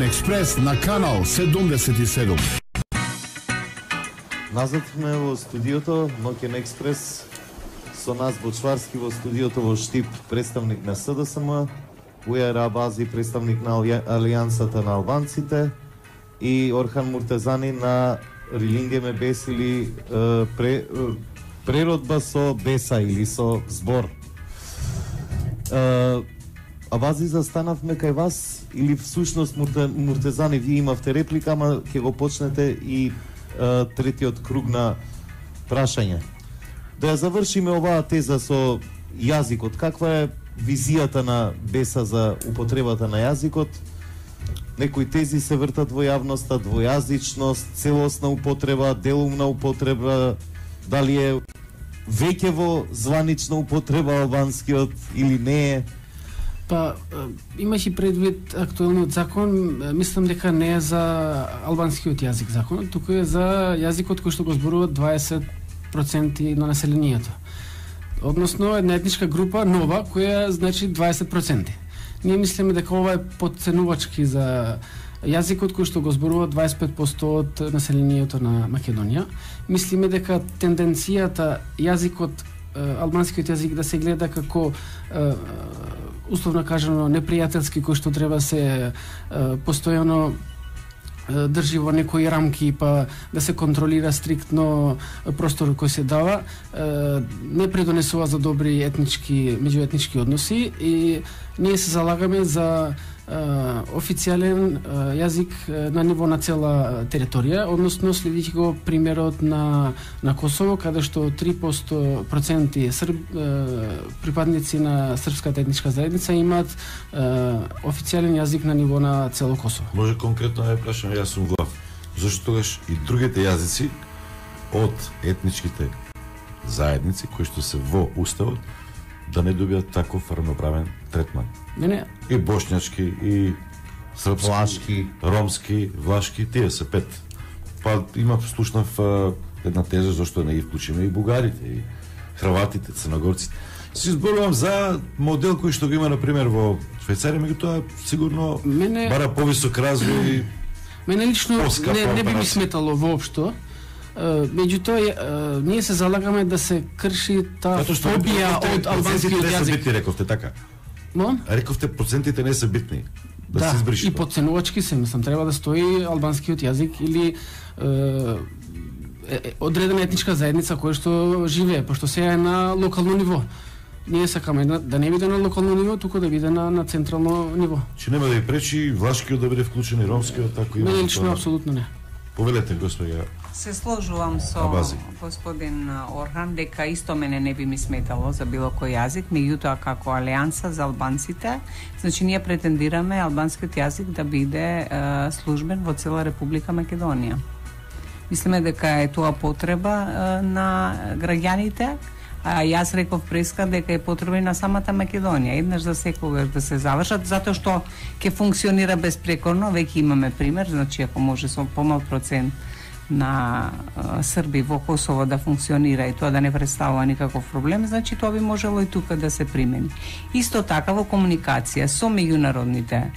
Експрес на канал 77. Назад сме во студиото Ноќен експрес. Со нас Бочварски во студиото во Штип, представник на СДСМ, Ујер Абази, представник на Алијансата на албанците, и Орхан Муртезани на Рилинге ме бесили преродба со беса или со збор. Абази, застанавме кај вас или всушност Муртезани, вие имавте реплика, ама ќе го почнете и третиот круг на прашање. Да ја завршиме оваа теза со јазикот. Каква е визијата на беса за употребата на јазикот? Некои тези се вртат во јавноста, двојазичност, целосна употреба, делумна употреба, дали е веќе во званична употреба албанскиот или не е? Па, имаше предвид актуелниот закон, мислам дека не е за албанскиот јазик закон, туку е за јазикот кој што го зборуваат 20% на населението. Односно, една етничка група нова, која значи 20%. Ние мислиме дека ова е подценувачки за јазикот кој што го зборува 25% од населението на Македонија. Мислиме дека тенденцијата јазикот, албанскиот јазик да се гледа како условно кажано непријателски, кој што треба се постојано држи во некои рамки, па да се контролира стриктно просторот кој се дава, не предонесува за добри меѓуетнички односи, и ние се залагаме за официјален јазик на ниво на цела територија, односно следијќи го примерот на Косово, каде што 3% припадници на српската етничка заедница имаат официјален јазик на ниво на цело Косово. Може конкретно да ја прашам, јас сум глав. Зашто тогаш и другите јазици од етничките заедници кои што се во уставот да не добијат таков равноправен третман? Не. И бошњачки, и српски, влашки, ромски, влашки, тие се 5. Па има слушнав една теза зашто не ги вклучиме и бугарите, и хрватите, црногорците. Си зборувам за модел кој што го има, например, во Швајцарија, меѓутоа сигурно бара повисок развој. Мене лично не би ми сметало воопшто. Меѓутоа, ние се залагаме да се крши таа фобија од албанскиот јазик. Битни, рековте така. Рековте процентите не се битни. Да се избриши. И подценувачки се, мислам, треба да стои албанскиот јазик или одредена етничка заедница која што живее, пошто сега е на локално ниво. Ние сакаме да не биде на локално ниво, туку да биде на централно ниво. Че нема да ја пречи влашкиот да биде вклучен и ромскиот, така и мене лично апсолутно не. Повелете, господја. Се сложувам со господин Орхан дека исто мене не би ми сметало за било кој јазик, меѓутоа како Алијанса за албанците, значи ние претендираме албанскиот јазик да биде службен во цела Република Македонија. Мислиме дека е тоа потреба на граѓаните, а јас реков преска дека е потреба и на самата Македонија, еднаш за секогаш да се завршат, затоа што ќе функционира безпрекорно, веќе имаме пример, значи ако може со помал процент на Срби во Косово да функционира и тоа да не представува никаков проблем, значи тоа би можело и тука да се примени. Исто така во комуникација со меѓународните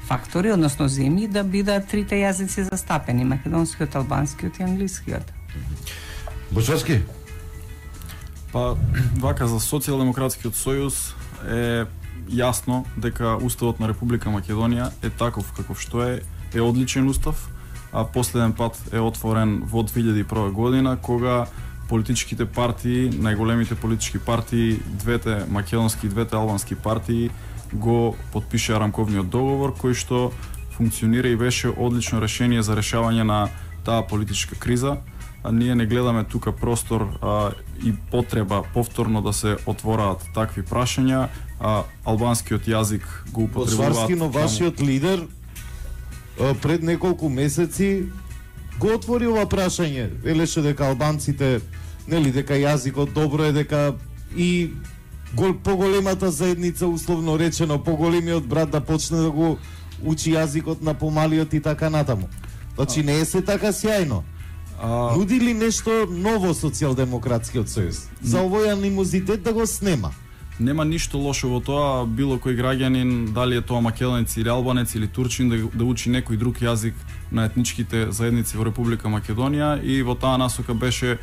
фактори, односно земји, да бидат трите јазици застапени, македонскиот, албанскиот и англискиот. Бочарски? Па, вака за Социјалдемократскиот сојуз е јасно дека Уставот на Република Македонија е таков каков што е одличен устав, а последен пат е отворен во 2001 година, кога политичките партии, најголемите политички партии, двете македонски и двете албански партии, го потпишаа рамковниот договор, кој што функционира и беше одлично решение за решавање на таа политичка криза. А ние не гледаме тука простор и потреба повторно да се отвораат такви прашања. Албанскиот јазик го употребуваат. Бочварски, но вашиот лидер пред неколку месеци го отвори ова прашање. Велеше дека албанците, нели, дека јазикот добро е, дека и поголемата заедница, условно речено, поголемиот брат да почне да го учи јазикот на помалиот и така натаму. Значи не е се така сјајно. Нуди ли нешто ново Социјалдемократскиот сојуз? За овој анимозитет да го снема? Нема ништо лошо во тоа, било кој граѓанин, дали е тоа македонец или албанец или турчин, да учи некој друг јазик на етничките заедници во Република Македонија, и во таа насока беше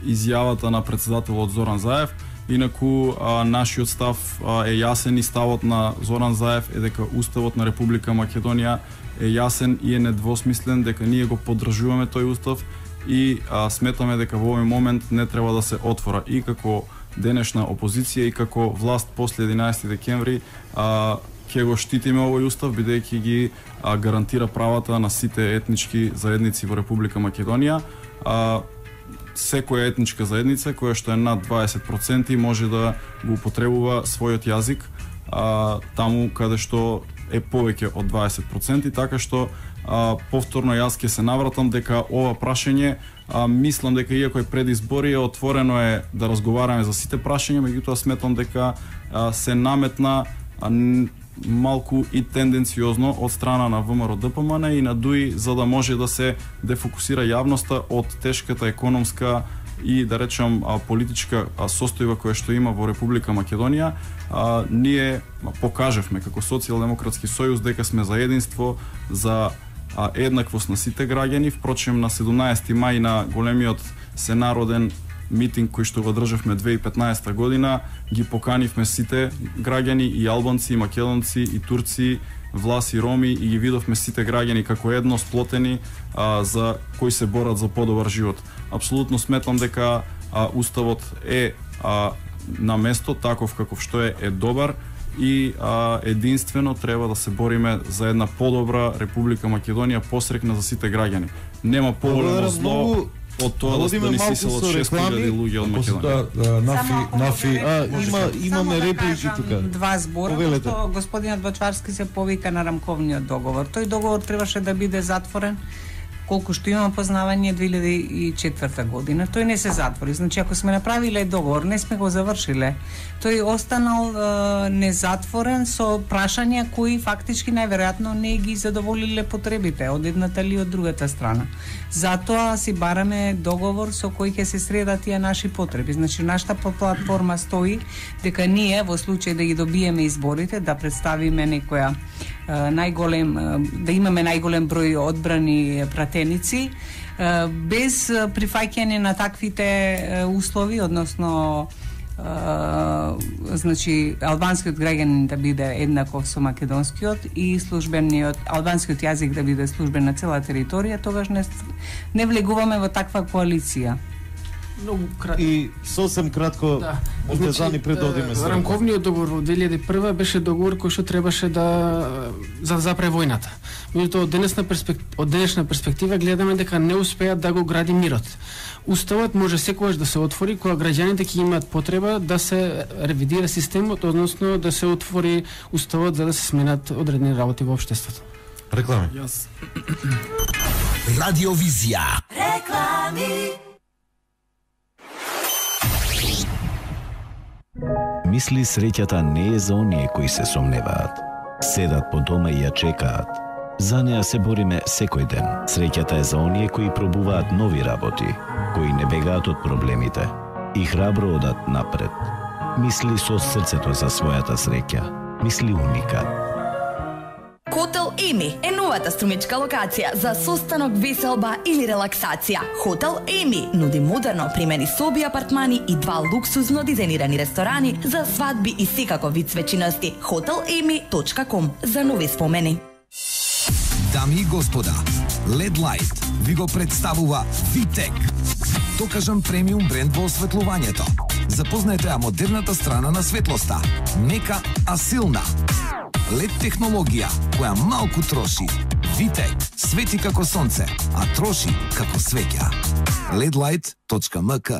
изјавата на претседателот Зоран Заев. Инаку нашиот став е јасен и ставот на Зоран Заев е дека Уставот на Република Македонија е јасен и е недвосмислен, дека ние го поддржуваме тој устав и сметаме дека во овој момент не треба да се отвора. И како денешна опозиција и како власт после 11 декември ќе го штитиме овој устав, бидејќи ги гарантира правата на сите етнички заедници во Република Македонија. Секоја етничка заедница која што е над 20% може да го употребува својот јазик таму каде што е повеќе од 20%, така што повторно јас ќе се навратам дека ова прашање, мислам дека иако е пред избори, отворено е да разговараме за сите прашања, меѓутоа сметам дека се наметна малку и тенденциозно од страна на ВМРО ДПМН и на ДУИ, за да може да се дефокусира јавноста од тешката економска и, да речам, политичка состојба која што има во Република Македонија. Ние покажавме како Социјалдемократски сојуз дека сме за единство, за еднаквост на сите граѓани. Впрочем, на 17 мај на големиот сенароден митинг кој што го државме 2015 година, ги поканивме сите граѓани, и албанци, и македонци, и турци, власи, роми, и ги видовме сите граѓани како едно сплотени за кои се борат за подобар живот. Апсолутно сметам дека уставот е на место таков каков што е добар, и единствено треба да се бориме за една подобра Република Македонија, посрекна за сите граѓани. Нема поголемо зло од тоа да ни сиселат 6.000 луѓе од Македонија. Имаме реплики тука. Два збора, што господинот Бочварски се повика на рамковниот договор. Тој договор требаше да биде затворен, колку што имам познавање, 2004 година. Тој не се затвори. Значи, ако сме направиле договор, не сме го завршиле. Тој останал незатворен со прашања кои фактички најверојатно не ги задоволиле потребите од едната или од другата страна. Затоа си бараме договор со кој ќе се средат тие наши потреби. Значи, нашата платформа стои дека ние, во случај да ги добиеме изборите, да представиме некоја да имаме најголем број одбрани пратеници, без прифаќање на таквите услови, односно значи албанскиот граѓанин да биде еднаков со македонскиот и службениот албанскиот јазик да биде службен на цела територија, тогаш не влегуваме во таква коалиција. И сосем кратко, Озтезани, предодиме се. Рамковниот договор во 2001 беше договор кој што требаше да запре војната. Меѓутоа, од денешна перспектива гледаме дека не успеат да го гради мирот. Уставот може секогаш да се отвори кога граѓаните ќе имаат потреба да се ревидира системот, односно да се отвори уставот за да се сменат одредени работи во општеството. Реклами. Радиовизија. Реклами. Мисли среќата не е за оние кои се сомневаат, седат по дома и ја чекаат, За неа се бориме секој ден. Среќата е за оние кои пробуваат нови работи, кои не бегаат од проблемите и храбро одат напред. Мисли со срцето за својата среќа. Мисли уникат. Хотел Еми е новата струмичка локација за состанок, веселба или релаксација. Хотел Еми нуди модерно примени соби, апартмани и 2 луксузно дизајнирани ресторани за свадби и секако вид свечиности. hotelemi.com за нови спомени. Дами и господа, LED Light ви го представува Vitec. Докажан премиум бренд во осветлувањето. Запознаете ја модерната страна на светлоста. Мека, а силна. LED технологија која малку троши. Vitec свети како сонце, а троши како свеќа. ledlight.mk.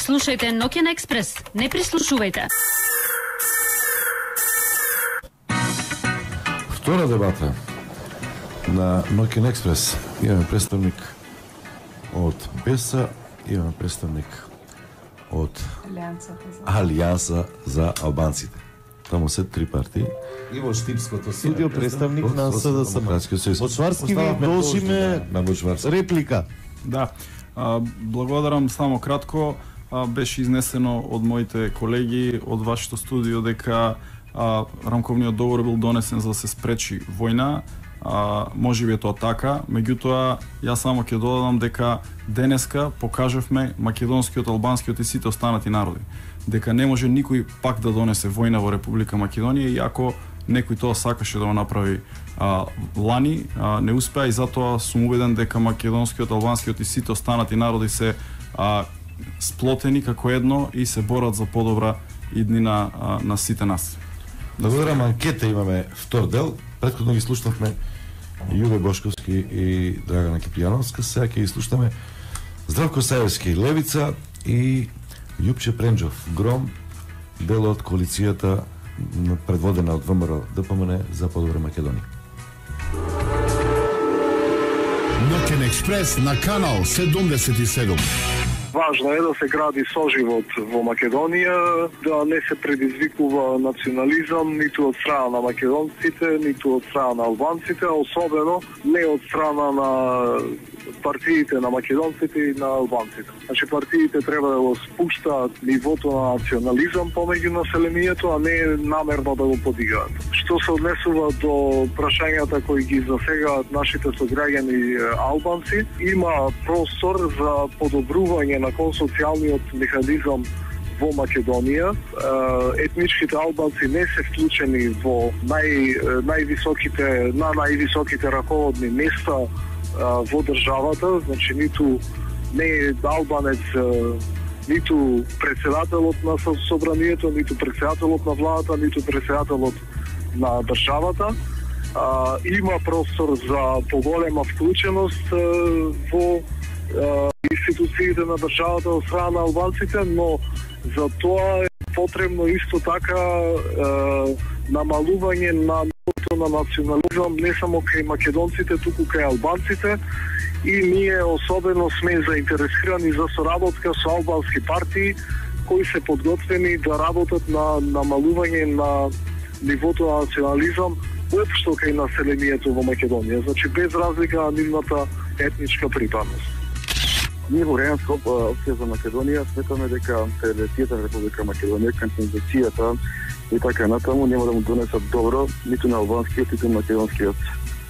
Слушајте Нокен Експрес, не прислушувајте. Втора дебата на Нокен Експрес. Имаме представник од БЕСА, имаме представник од Алијанса за албанците. Таму се 3 партии. И во Штипското студио представник на СДСМ. Од Шварски ви должиме реплика. Да. Благодарам само кратко. Беше изнесено од моите колеги од вашето студио дека рамковниот договор бил донесен за да се спречи војна. Можеби е тоа така, меѓутоа јас само ќе додадам дека денеска покажавме македонскиот, албанскиот и сите останати народи дека не може никој пак да донесе војна во Република Македонија, иако некој тоа сакаше да го направи лани, не успеа, и затоа сум убеден дека македонскиот, албанскиот и сите останати народи се сплотени како едно и се борат за подобра иднина на сите нас. Благодарам, анкета имаме втор дел. Претходно ги слушнавме Јуве Бошковски и Драгана Кипријановска. Сега ќе ги слушнаме Здравко Саевски, Левица, и Јупче Пренџов, Гром, дел од коалицијата предводена од ВМРО ДПМН за подобра Македонија. Нокен Експрес на канал 77. Важно е да се гради соживот во Македонија, да не се предизвикува национализам ниту од страна на македонците, ниту од страна на албанците, а особено не од страна на партиите на македонците и на албанците. Значи партиите треба да го спуштаат нивото на национализам помеѓу населението, а не намерно да го подигаат. Што се однесува до прашањата кои ги засегаат нашите сограѓани албанци, има простор за подобрување на консоцијалниот механизам во Македонија. Етничките албанци не се вклучени во највисоките раководни места во државата, значи ниту не е албанец, ниту председателот на собранието, ниту председателот на владата, ниту председателот на државата. Има простор за поголема вклученост во институциите на државата од страна на албанците, но за тоа е потребно исто така намалување на на национализам не само кај македонците, туку кај албанците, и ние особено сме заинтересирани за соработка со албански партии кои се подготвени да работат на намалување на нивото на национализам општо кај населението во Македонија, значи без разлика на нивната етничка припадност. Ние во Рејанска опција за Македонија сметаме дека Федерацијата на Република Македонија, кандидацијата и така натаму нема да му донесат добро ниту на албанскиот, ниту на македонскиот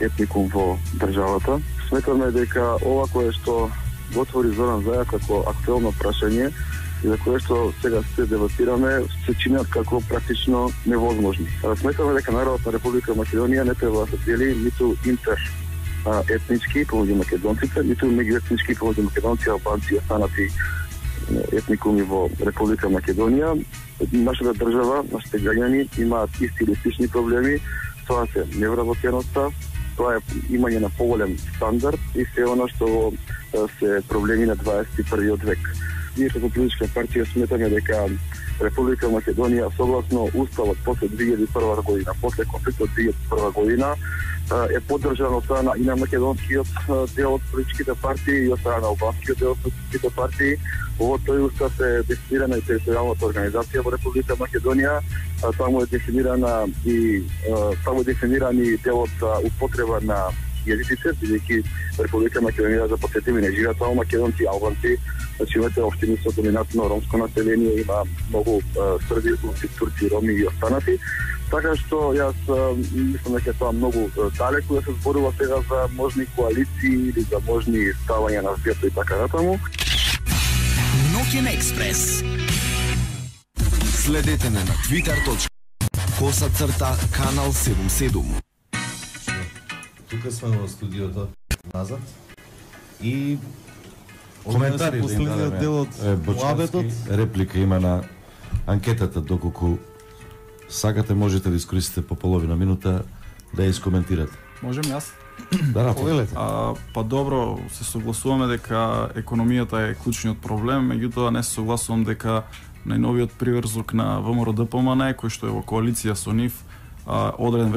етникум во државата. Сметаме дека ова кое што го отвори Зоран Заев како актуелно прашање и за кое што сега се дебатираме се чинат како практично невозможни. Сметаме дека народот на Република Македонија не треба да се дели ниту етнички помеѓу македонците, ниту меѓуетнички помеѓу македонци, албанци и останати етникуми во Република Македонија. Нашата држава, нашите граѓани имаат исти или слични проблеми тоа се невработеноста, тоа е имање на поголем стандард и се она што се проблеми на 21. век. Ние како политичка партија сметаме дека Република Македонија согласно уставот после 2001 година, после конфликтот 2001 година е поддржано од страна и на македонскиот дел од политичките партии и од страна на албанскиот дел од политичките партии. Во тој устав е дефинирана и територијалната организација во Република Македонија, таму е дефиниран и делот употреба на јазиците, бидејќи Република Македонија за посетими не живеат само македонци и албанци, значи имате општини со доминантно ромско население, има многу срби, турци, роми и останати. Така што јас мислам дека тоа многу далеку да се зборува сега за можни коалиции или за можни ставања на светот и така натаму. Ноќен експрес. Следете ме на twitter.com/канал 77. Тука сме во студиото назад и коментари последниот дел од муабетот. Реплика има на анкетата, доколку сакате можете да искористите по половина минута да ја искоментирате. Можем јас? Да, повелете. Па добро, се согласуваме дека економијата е клучниот проблем, меѓутоа не се согласувам дека најновиот приврзок на ВМРО-ДПМН, кој што е во коалиција со нив, одреден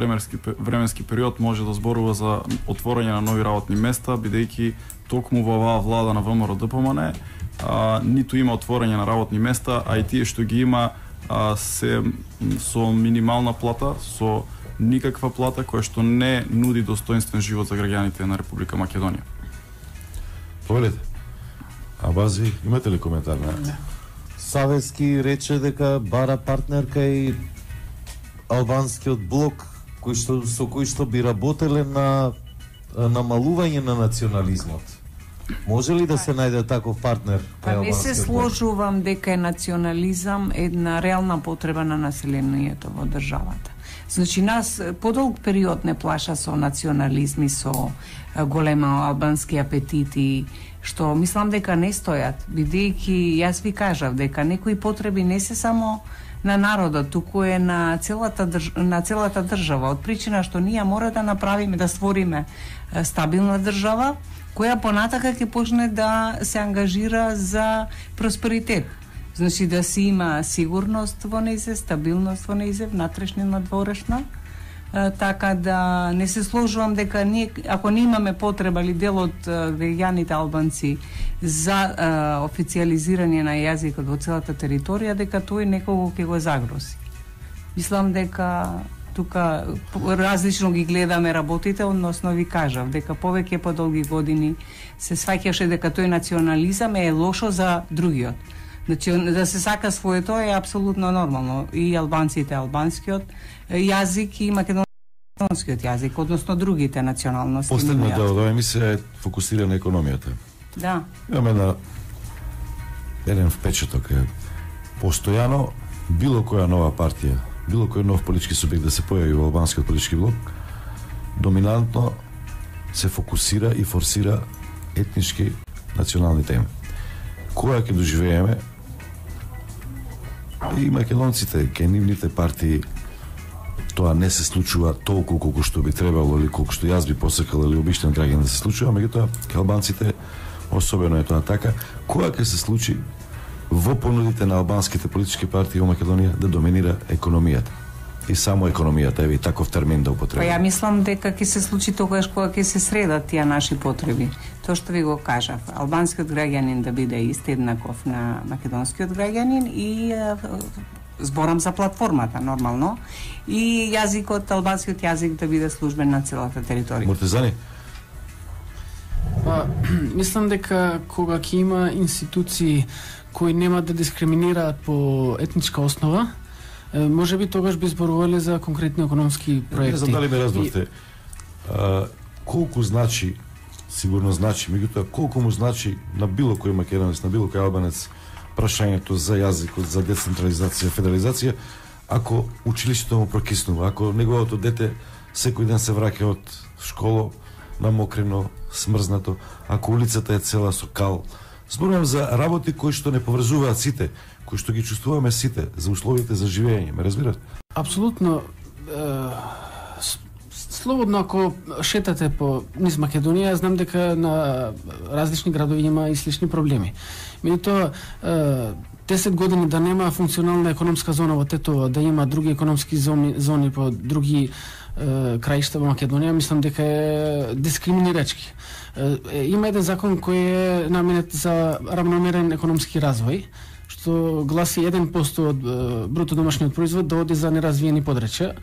временски период може да зборува за отворање на нови работни места, бидејќи токму во оваа влада на ВМРО-ДПМН ниту има отворање на работни места, а и тие што ги има се со минимална плата, со никаква плата која што не нуди достоинствен живот за граѓаните на Република Македонија. Повелете. Абази, имате ли коментар на? Савески рече дека бара партнерка и албанскиот блок со кој што би работеле на намалување на национализмот. Може ли да се најде таков партнер? Не се сложувам дека е национализам една реална потреба на населението во државата. Значи нас подолг период не плаша со национализми, со голема албански апетити, што мислам дека не стојат, бидејќи јас ви кажав дека некои потреби не се само на народот, туку е на целата држава, од причина што ние мора да направиме, да створиме стабилна држава, која понатака ќе почне да се ангажира за просперитет. Значи да си има сигурност во нејзе, стабилност во нејзе, внатрешна и надворешна. Така да не се сложувам дека ние, ако не имаме потреба или дел од граѓаните албанци за официализирање на јазикот во целата територија, дека тој некого ќе го загрози. Мислам дека тука различно ги гледаме работите, односно ви кажав дека повеќе по долги години се сваќаше дека тој национализам е лошо за другиот. Значи, да се сака своето е апсолутно нормално. И албанците албанскиот јазик и македонскиот јазик, односно другите националности. Последниот дел од оваа емисија е фокусира на економијата. Да. Имаме еден впечаток е постојано било која нова партија, било кој нов политички субјект да се појави во албанскиот политички блок, доминантно се фокусира и форсира етнички национални теми. Која ќе доживееме и македонците, ке нивните партии, тоа не се случува толку колку што би требало или колку што јас би посакал или обичен граѓан да се случува, меѓутоа ке албанците особено е тоа така, која ќе се случи во понудите на албанските политички партии во Македонија да доминира економијата. И само економијата, еве таков термин да употребам. Па ја мислам дека ќе се случи тогаш кога ќе се средат тие наши потреби. Тоа што ви го кажав, албанскиот граѓанин да биде ист еднаков на македонскиот граѓанин и зборам за платформата нормално и јазикот, албанскиот јазик да биде службен на целата територија. Муртезани? Па, мислам дека кога ќе има институции кои нема да дискриминираат по етничка основа, може би тогаш би зборувале за конкретни економски проекти. Не знам дали ме разбравте. Колку значи, сигурно значи, меѓутоа колку му значи на било кој македонец, на било кој албанец прашањето за јазикот, за децентрализација, федерализација, ако училиштето му прокиснува, ако неговото дете секој ден се враќа од школа намокрено, смрзнато, ако улицата е цела со кал. Зборувам за работи кои што не поврзуваат сите, кои што ги чувствуваме сите, за условите за живење, ме разбирате? Апсолутно. Слободно ако шетате по низ Македонија, знам дека на различни градови има и слични проблеми. Меѓутоа 10 години да нема функционална економска зона во Тетово, да има други економски зони по други краишта во Македонија, мислам дека е дискриминирачки. Има еден закон кој е наменет за равномерен економски развој, што гласи 1% од бруто домашниот производ да оди за неразвиени подрачја.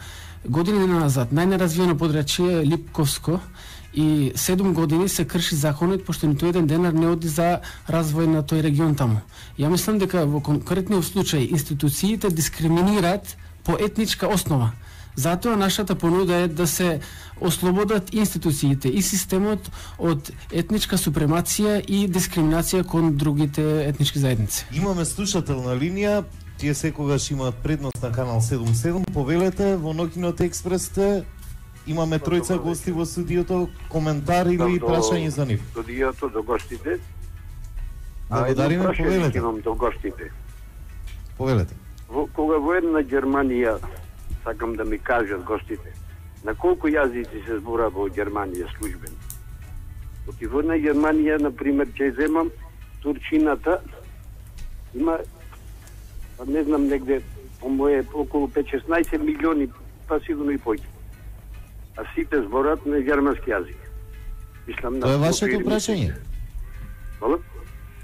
Години назад најнеразвиено подрачје е Липковско и 7 години се крши законот пошто ниту еден денар не оди за развој на тој регион таму. Ја мислам дека во конкретниот случај институциите дискриминираат по етничка основа. Затоа нашата понуда е да се ослободат институциите и системот од етничка супремација и дискриминација кон другите етнички заедници. Имаме слушател на линија, тие секогаш имаат предност на канал 77. Повелете, во Ноќниот експрес имаме тројца гости во студиото, коментар или прашање за нив. Студиото до гостите. Благодариме, повелете. Имам до гостите. Повелете. Кога во една Германија, сакам да ми кажат гостите, на колку јазици се збора во Германија службен? Оти во една Германија, например, ќе земам турчината, има, не знам, негде, по моje, околу 5-16 милиони, па сигурно и поќе. А сите зборат на германски јазик. Мислам, тоа е вашето прашање?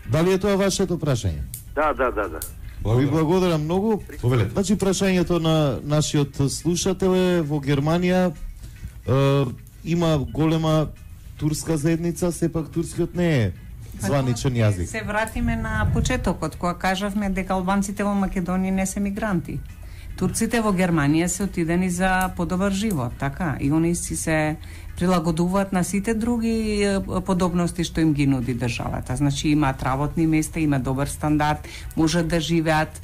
Дали е тоа вашето прашање? Да. Ви благодарам многу. Значи, прашањето на нашиот слушател е во Германија има голема турска заедница, сепак турскиот не е званичен јазик. Се вратиме на почетокот, кога кажавме дека албанците во Македонија не се мигранти. Турците во Германија се отидени за подобар живот, така, и они си се прилагодуваат на сите други подобности што им ги нуди државата. Значи имаат работни места, имаат добар стандард, можат да живеат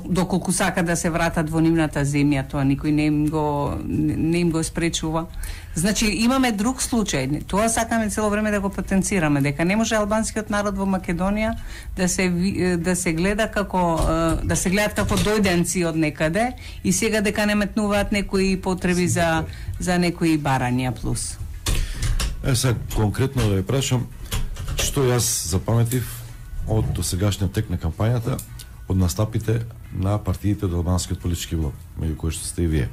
доколку сака да се вратат во нивната земја, тоа никој не им го спречува. Значи имаме друг случај. Тоа сакаме цело време да го потенцираме, дека не може албанскиот народ во Македонија да се гледа како да се гледаат како дојденци од некаде и сега дека не метнуваат некои потреби за некои барања плюс. Сега конкретно да ја прашам што јас запаметив од досегашниот тек на кампањата, од настапите на партиите од албанскиот политички блок, меѓу кои што сте и вие.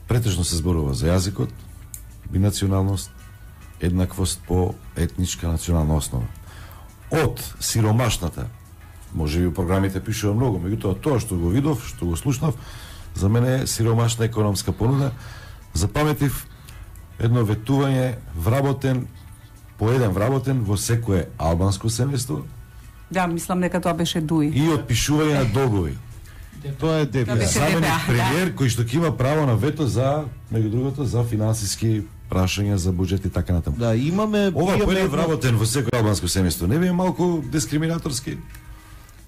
Претежно се зборува за јазикот, бинационалност, еднаквост по етничка национална основа. Од сиромашната, може би програмите пишува многу, меѓутоа тоа што го видов, што го слушнав, за мене е сиромашна економска понуда. Запаметив едно ветување вработен по еден вработен во секое албанско семејство. Да, мислам дека тоа беше Дуи. И отпишување на долгови. Тоа е ДПА. Заменик премиер кој што ќе има право на вето за, меѓу другото, за финансиски прашања за буџет и така натаму. Да, имаме ова поеден вработен во секој албанско семејство. Не би е малку дискриминаторски?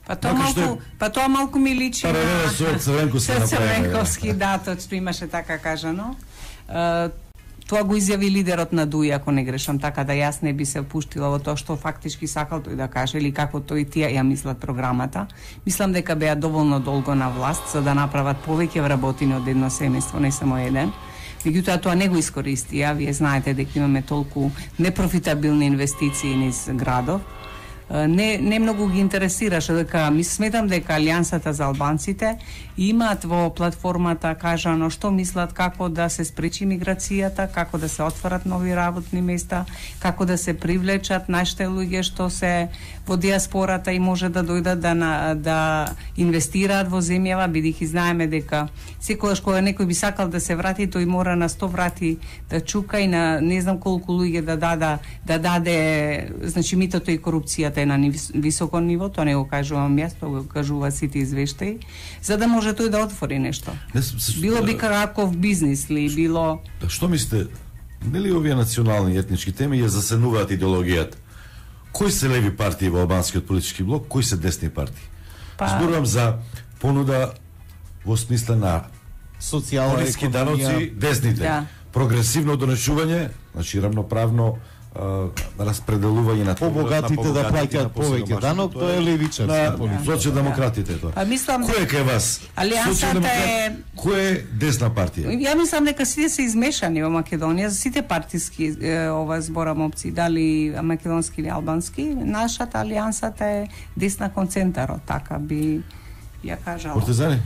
Па тоа малку ми личи на Црвенковски, да, точно имаше така кажано. Тоа го изјави лидерот на Дуи, ако не грешам, така да јас не би се впуштила во тоа што фактички сакал тој да каже или како тој тие ја мислат програмата. Мислам дека беа доволно долго на власт за да направат повеќе вработени од едно семејство, не само еден. Меѓутоа тоа не го искористија. Вие знаете дека имаме толку непрофитабилни инвестиции низ градов. Не многу ги интересираше, дека ми сметам дека Алијансата за албанците имаат во платформата кажано што мислат како да се спречи миграцијата, како да се отворат нови работни места, како да се привлечат нашите луѓе што се во диаспората и може да дојдат да инвестираат во земјава, бидејќи знаеме дека секогаш кога некој би сакал да се врати, тој мора на 100 врати да чука и на не знам колку луѓе да даде, значи митото и корупцијата е на високо ниво, тоа не го кажувам јас, тоа го кажува сите извештаи, за да може тој да отвори нешто. Било би каков бизнис ли, било... Што мислите, нели овие национални и етнички теми ја засенуваат идеологијата? Кои се леви партии во албанскиот политички блок, кои се десни партии? Зборувам за понуда во смисла на социјална даноци, десните. Да. Прогресивно донесување, значи рамноправно распределување на побогатите да плаќаат повеќе данок, тоа е левичарска политика. Социјалдемократите тоа. Па мислам кој е кај вас? Алијансата е кој е десна партија? Ја мислам дека сите се измешани во Македонија, сите партиски ова зборам опции, дали македонски или албански. Нашата алијансата е десна концентаро, така би ја кажала. Партизани?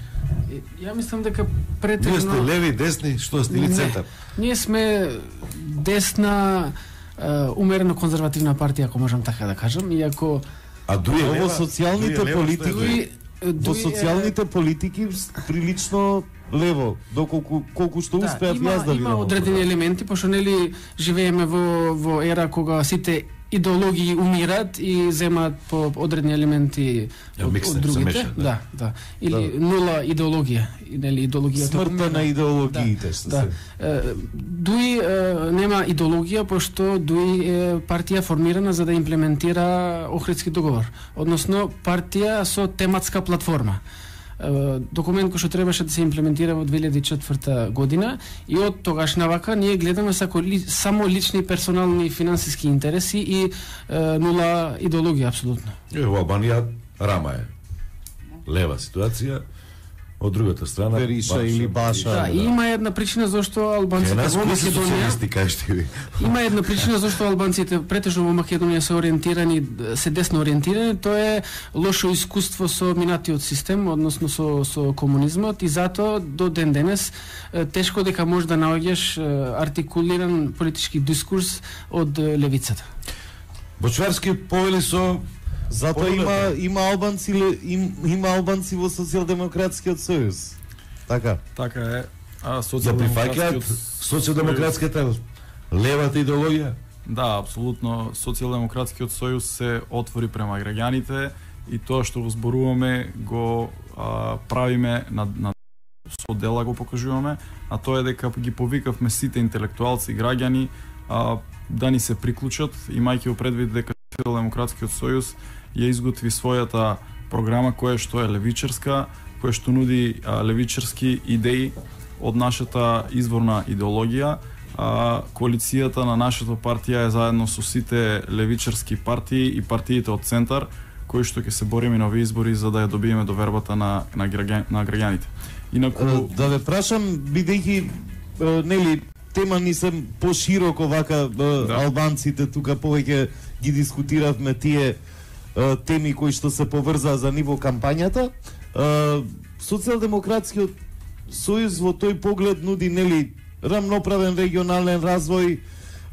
Ја мислам дека претежно... Вие сте леви, десни, што сте или центар? Ние сме десна умерено конзервативна партија, ако можам така да кажам, иако во социјалните политики во социјалните политики прилично лево, доколку колку што успеат јас да видам. Има одредени елементи, пошто нели живееме во ера кога сите идеологии умират и земаат по одредени елементи од другите. Да. Или нула идеологија, нели идеологијата. Смртта на идеологиите, што се. Дуи нема идеологија, пошто дуи е партија формирана за да имплементира Охридски договор, односно партија со тематска платформа. Документ кој што требаше да се имплементира во 2004 година и од тогаш навака ние гледаме само лични персонални финансиски интереси и нула идеологија апсолутно. Во Албанија рама е лева ситуација, од другата страна Бериша или Баша. Да, и има една причина зашто албанците во Македонија Има една причина зашто албанците претежно во Македонија се ориентирани, се десно ориентирани, тоа е лошо искуство со минатиот систем, односно со комунизмот, и затоа до ден денес тешко дека може да наоѓаш артикулиран политички дискурс од левицата. Бочварски повели со затоа има албанци во Социјалдемократскиот сојуз. Така е. За прифаќаат социјалдемократската левата идеологија? Да, апсолутно. Социјалдемократскиот сојуз се отвори према граѓаните и тоа што го зборуваме го правиме со дела го покажуваме, а тоа е дека ги повикавме сите интелектуалци и граѓани да ни се приклучат, имајќи во предвид дека Социјалдемократскиот сојуз ја изготви својата програма која што е левичарска, која што нуди левичарски идеи од нашата изворна идеологија. Коалицијата на нашата партија е заедно со сите левичарски партии и партиите од центар, кои што ќе се бориме на овие избори за да ја добиеме довербата на граѓаните. Инаку да ве прашам, бидејќи нели тема ни се пошироко вака албанците тука повеќе ги дискутиравме тие теми кои што се поврзаа за ниво кампањата. Социјалдемократскиот сојуз во тој поглед нуди нели рамноправен регионален развој,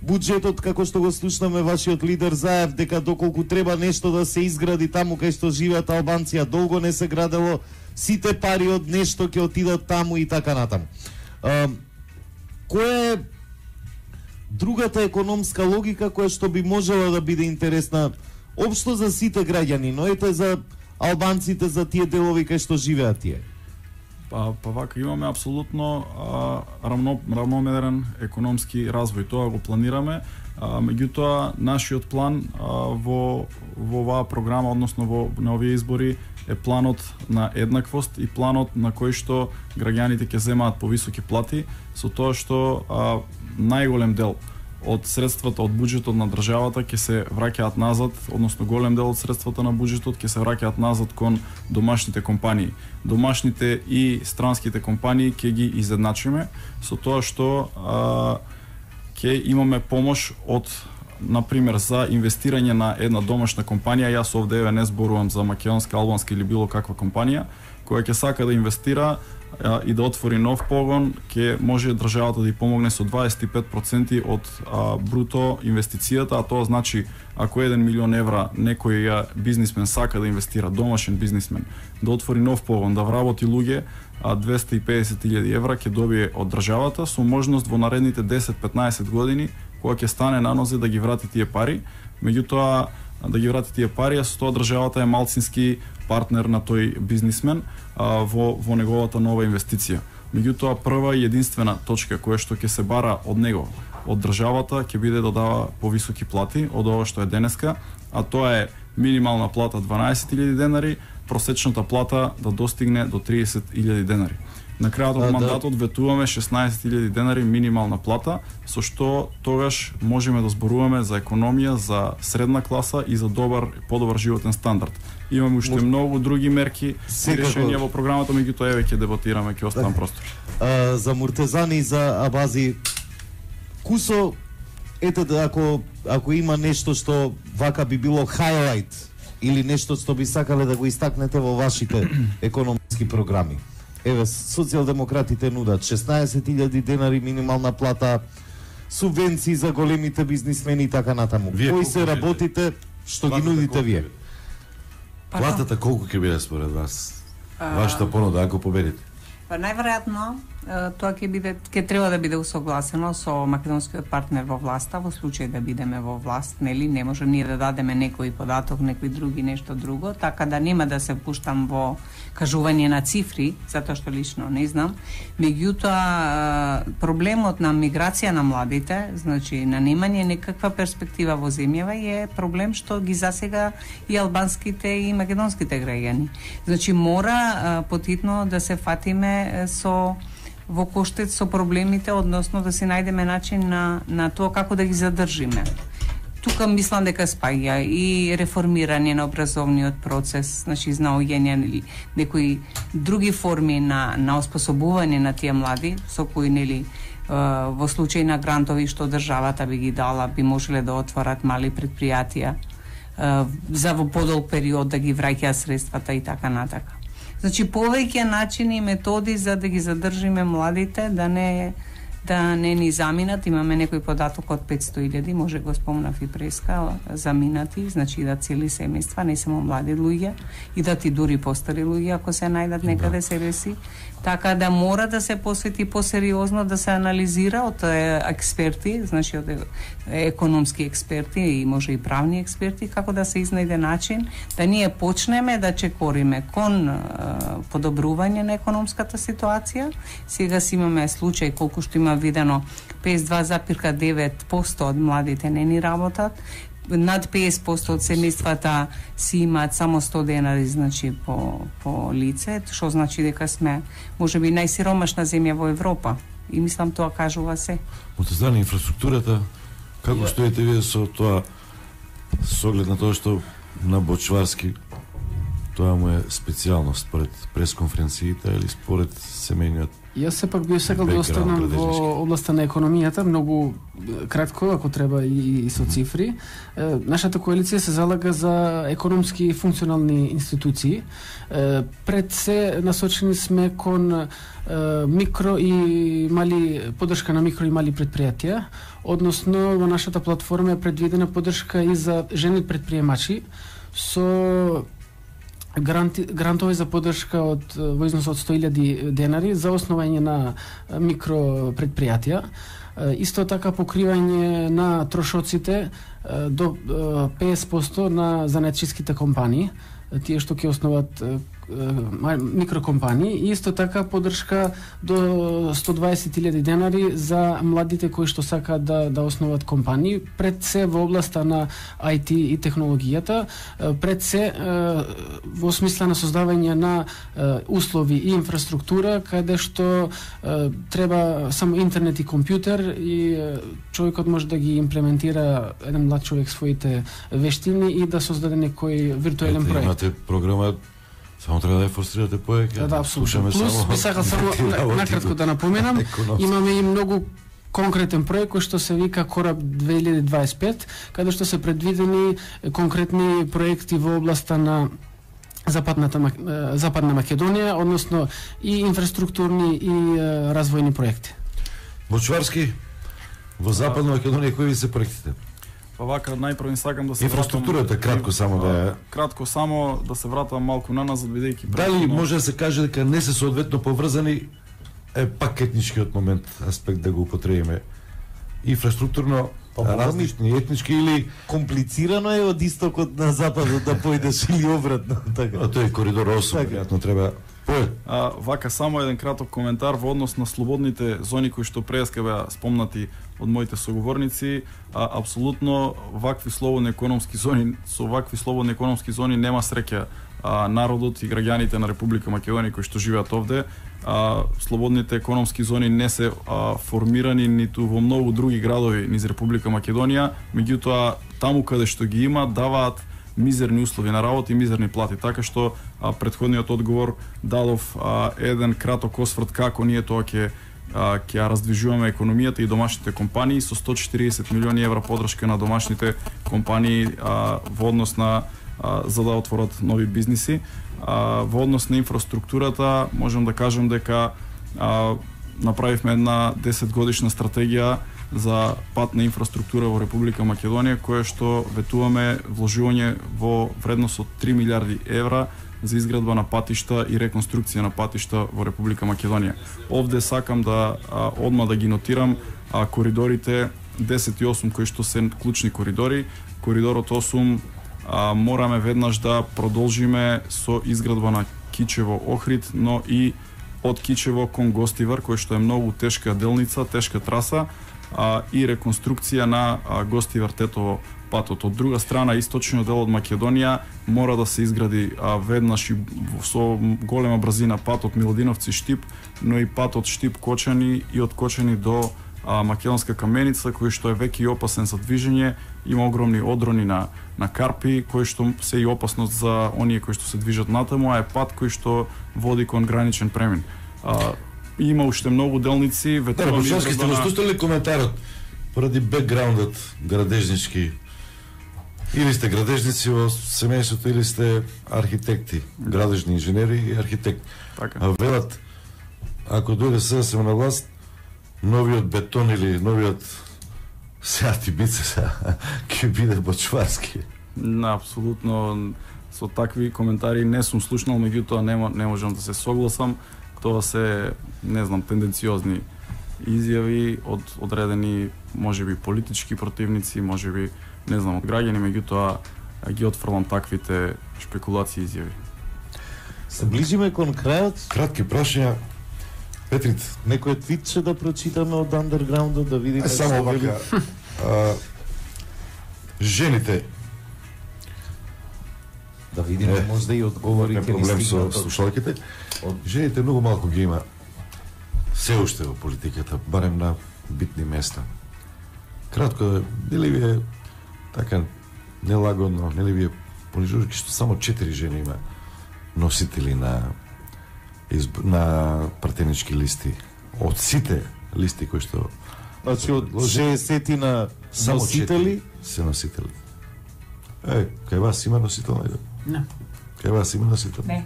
буџетот како што го слушнаме вашиот лидер Заев дека доколку треба нешто да се изгради таму кај што живеат албанци, а долго не се градело, сите пари од нешто ќе отидат таму и така натаму. Која е другата економска логика која што би можела да биде интересна општо за сите граѓани, но ете за албанците, за тие делови кај што живеат тие? Па вака имаме апсолутно рамномерен економски развој, тоа го планираме, меѓутоа нашиот план во оваа програма, односно на овие избори е планот на еднаквост и планот на кој што граѓаните ќе земаат повисоки плати, со тоа што најголем дел од средствата од буџетот на државата ќе се враќаат назад, односно голем дел од средствата на буџетот ќе се враќаат назад кон домашните компании. Домашните и странските компании ќе ги изедначиме со тоа што ќе имаме помош од, например, за инвестирање на една домашна компанија. Јас овде не зборувам за македонска, албанска или било каква компанија која ќе сака да инвестира и да отвори нов погон, ќе може државата да ја помогне со 25% од бруто инвестицијата, а тоа значи ако 1 милион евра некој бизнисмен сака да инвестира, домашен бизнисмен, да отвори нов погон, да вработи луѓе, 250.000 евра ќе добие од државата со можност во наредните 10-15 години кога ќе стане на нозе да ги врати тие пари. Меѓутоа да ги врати тие пари, а со тоа државата е малцински партнер на тој бизнисмен во неговата нова инвестиција. Меѓутоа прва и единствена точка која што ќе се бара од него, од државата, ќе биде да дава повисоки плати од ова што е денеска, а тоа е минимална плата 12.000 денари, просечната плата да достигне до 30.000 денари. На крајот од мандатот ветуваме 16.000 денари минимална плата, со што тогаш можеме да зборуваме за економија, за средна класа и за подобар животен стандард. Имаме уште многу други мерки и решенија во програмата, меѓутоа еве ќе дебатираме, ќе оставам простор. За Муртезани, за Абази, кусо, ете ако има нешто што вака би било хайлайт или нешто што би сакале да го истакнете во вашите економски програми. Еве, социјалдемократите нудат 16.000 денари минимална плата, субвенции за големите бизнисмени и така натаму. Кои се работите што ги нудите вие? Платата колку ќе биде според вас? Вашата понуда ако победите? Па најверојатно тоа ќе треба да биде усогласено со македонскиот партнер во власта, во случај да бидеме во власт, нели, не може ние да дадеме некој податок, некој други нешто друго, така да нема да се пуштам во кажување на цифри, затоа што лично не знам. Меѓутоа, проблемот на миграција на младите, значи на немање некаква перспектива во земјава е проблем што ги засега и албанските и македонските граѓани. Значи мора потитно да се фатиме во коштец со проблемите, односно да се најдеме начин на тоа како да ги задржиме. Тука мислам дека спаѓа и реформирање на образовниот процес, значи наоѓање некои други форми на оспособување на тие млади, со кои нели во случај на грантови што државата би ги дала, би можеле да отворат мали предпријатија за во подолг период да ги враќаат средствата и така натака. Значи повеќе начини и методи за да ги задржиме младите, да не ни заминат. Имаме некој податок од 500.000, може го спомнав и преска, заминати, значи да цели семејства, не само млади луѓе, и да ти дури постари луѓе ако се најдат некаде себе си. Така да мора да се посвети посериозно, да се анализира од експерти, значи од економски експерти и може и правни експерти, како да се изнајде начин да ние почнеме да чекориме кон подобрување на економската ситуација. Сега си имаме случај колку што има видено 52,9% од младите не ни работат, над 50% од семејствата си имаат само 100 денари, значи по лице, што значи дека сме можеби најсиромашна земја во Европа. И мислам тоа кажува се. Муртезани, инфраструктурата, како стоите вие со тоа, со оглед на тоа што на Бочварски тоа му е специјалност според пресконференциите или според семејниот? Јас сепак би сакал да останам во областа на економијата, многу кратко, ако треба и со цифри. Нашата коалиција се залага за економски функционални институции. Пред се насочени сме кон микро и мали поддршка на микро и мали предпријатија, односно во нашата платформа е предвидена поддршка и за жени предприемачи со грантови за поддршка во износ од 100.000 денари за основање на микро предпријатија. Исто така покривање на трошоците до 50% на занаетчиските компании, тие што ќе основат микрокомпании, и исто така поддршка до 120.000 денари за младите кои што сакаат да основат компании, пред се во областа на IT и технологијата, пред се во смисла на создавање на услови и инфраструктура каде што треба само интернет и компјутер и човекот може да ги имплементира, еден млад човек, своите вештини и да создаде некој виртуелен проект. Имате програма, само треба да ја форсирате повеќе. Да, апсолутно. Плюс би сакал само накратко да напоменам, имаме и многу конкретен проект кој што се вика Кораб 2025, каде што се предвидени конкретни проекти во областа на Западна Македонија, односно и инфраструктурни и развојни проекти. Бочварски, во Западна Македонија кои се проектите? Па вака најпрво сакам да се инфраструктурата кратко само да се вратам малку наназад, бидејќи дали може да се каже дека не се соодветно поврзани, е пак етничкиот момент аспект да го употребиме инфраструктурно, различни етнички или комплицирано е од истокот на западот да појдеш или обратно, така. Тоа е коридор 8, веројатно треба. Вака само еден краток коментар во однос на слободните зони кои што преска беа спомнати од моите соговорници. Апсолутно вакви слободни економски зони, со вакви слободни економски зони нема среќа народот и граѓаните на Република Македонија кои што живеат овде. Слободните економски зони не се формирани ниту во многу други градови низ Република Македонија, меѓутоа таму каде што ги има даваат мизерни услови на работа и мизерни плати, така што претходниот одговор дадов еден краток осврт како ние тоа ќе ја раздвижуваме економијата и домашните компании со 140 милиони евра подршка на домашните компании во однос на за да отворат нови бизниси. Во однос на инфраструктурата можам да кажам дека направивме една 10 годишна стратегија за патна инфраструктура во Република Македонија, која што ветуваме вложување во вредност од 3 милиарди евра за изградба на патишта и реконструкција на патишта во Република Македонија. Овде сакам да одма да ги нотирам коридорите 10 и 8 кои што се клучни коридори. Коридорот 8 мораме веднаш да продолжиме со изградба на Кичево Охрид, но и од Кичево кон Гостивар, кој што е многу тешка делница, тешка траса, и реконструкција на Гостивар Тетово патот. Од друга страна, источниот дел од Македонија мора да се изгради веднаш и со голема брзина патот Миладиновци Штип, но и патот Штип Кочани и од Кочани до Македонска Каменица, кој што е веќе и опасен за движење, има огромни одрони на карпи, кои што се и опасност за оние кои што се движат натаму, а е пат кој што води кон граничен премин. Има уште многу делници, ветувам сте го слушали коментарот поради бекграундот градежнички. Или сте градежници во семејството, или сте архитекти, градежни инженери и архитекти. Така. Велат, ако дојде СДСМ на власт, новиот бетон или новиот сеати бице ќе биде Бочварски. Апсолутно со такви коментари не сум слушнал, меѓутоа не можам да се согласам. Тоа се, не знам, тенденциозни изјави од одредени, можеби политички противници, можеби, не знам, од граѓани, меѓутоа ги отфрлам таквите шпекулации изјави. Се ближиме кон крајот. Кратки прашања. Петрит, некој твитче да прочитаме од андерграундот, да видиме само вака. Жените, да видиме можда и одговорите проблем со слушалките. Жените многу малку ги има се уште во политиката, барем на битни места. Кратко, нели ви е така нелагодно, нели ви е понижувачки што само 4 жени има носители на пратенички листи од сите листи кои што значи од 60 на носители се носители. Кај вас има носител? Не. Кај вас има носител? Не.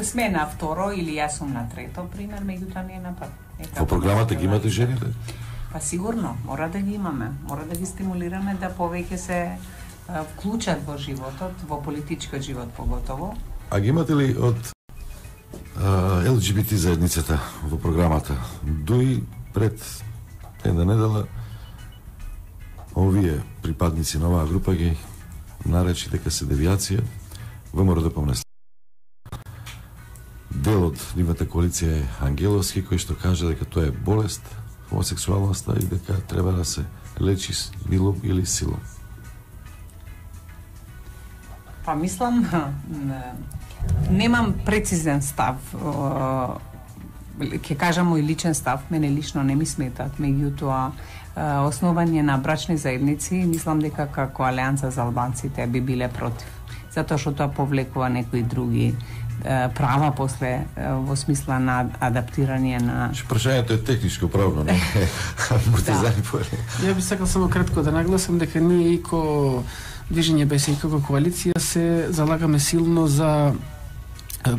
Сме на второ или јас сум на трето, пример, меѓутоа не е напад. Во програмата ги имате жените? Па сигурно, мора да ги имаме. Мора да ги стимулираме да повеќе се вклучат во животот, во политичкиот живот поготово. А ги имате ли од ЛГБТ заедницата во програмата? Дуи пред една недела овие припадници на оваа група ги наречи дека се девијација. ВМРО да помнесли. Дел од нивната коалиција е Ангеловски, кој што каже дека тоа е болест, хомосексуалноста и дека треба да се лечи милом или силом. Па мислам, немам прецизен став. Ќе кажам мој личен став, мене лично не ми сметат, меѓутоа основање на брачни заедници, мислам дека како Алијанса за албанците би биле против. Затоа што тоа повлекува некои други права после во смисла на адаптирање на... Прашањето е техничко правно, не? Ја би сакал само кратко да нагласам дека ние и ко Движење БС и како коалиција се залагаме силно за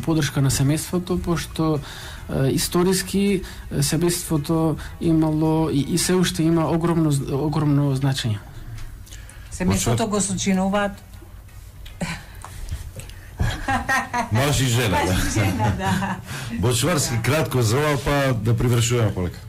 поддршка на семејството, пошто историски семејството имало и се уште има огромно значење. Семејството го сочинуваат маж и жена. Да. Бочварски кратко за ова, па да привршуваме полека.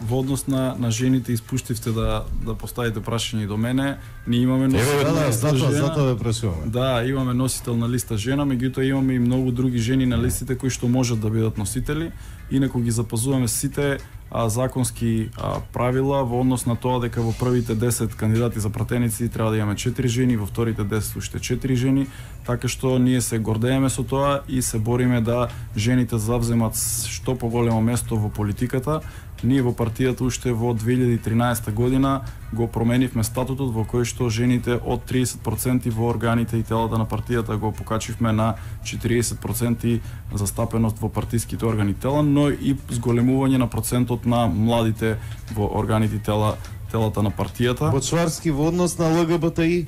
Во однос на жените испуштивте да поставите прашање и до мене. Ние имаме носител на листа жена. Затоа ве прашуваме. Да, имаме носител на листа жена, меѓутоа имаме и многу други жени на листите кои што можат да бидат носители. Инаку ги запазуваме сите законски правила во однос на тоа дека во првите 10 кандидати за пратеници треба да имаме 4 жени, во вторите 10 уште 4 жени, така што ние се гордееме со тоа и се бориме да жените завземат што поголемо место во политиката. Ние во партијата уште во 2013 година го променивме статутот во кој што жените од 30% во органите и телата на партијата го покачивме на 40% застапеност во партиските органи и тела, но и зголемување на процентот на младите во органите и телата на партијата. Почварски во однос на ЛГБТИ?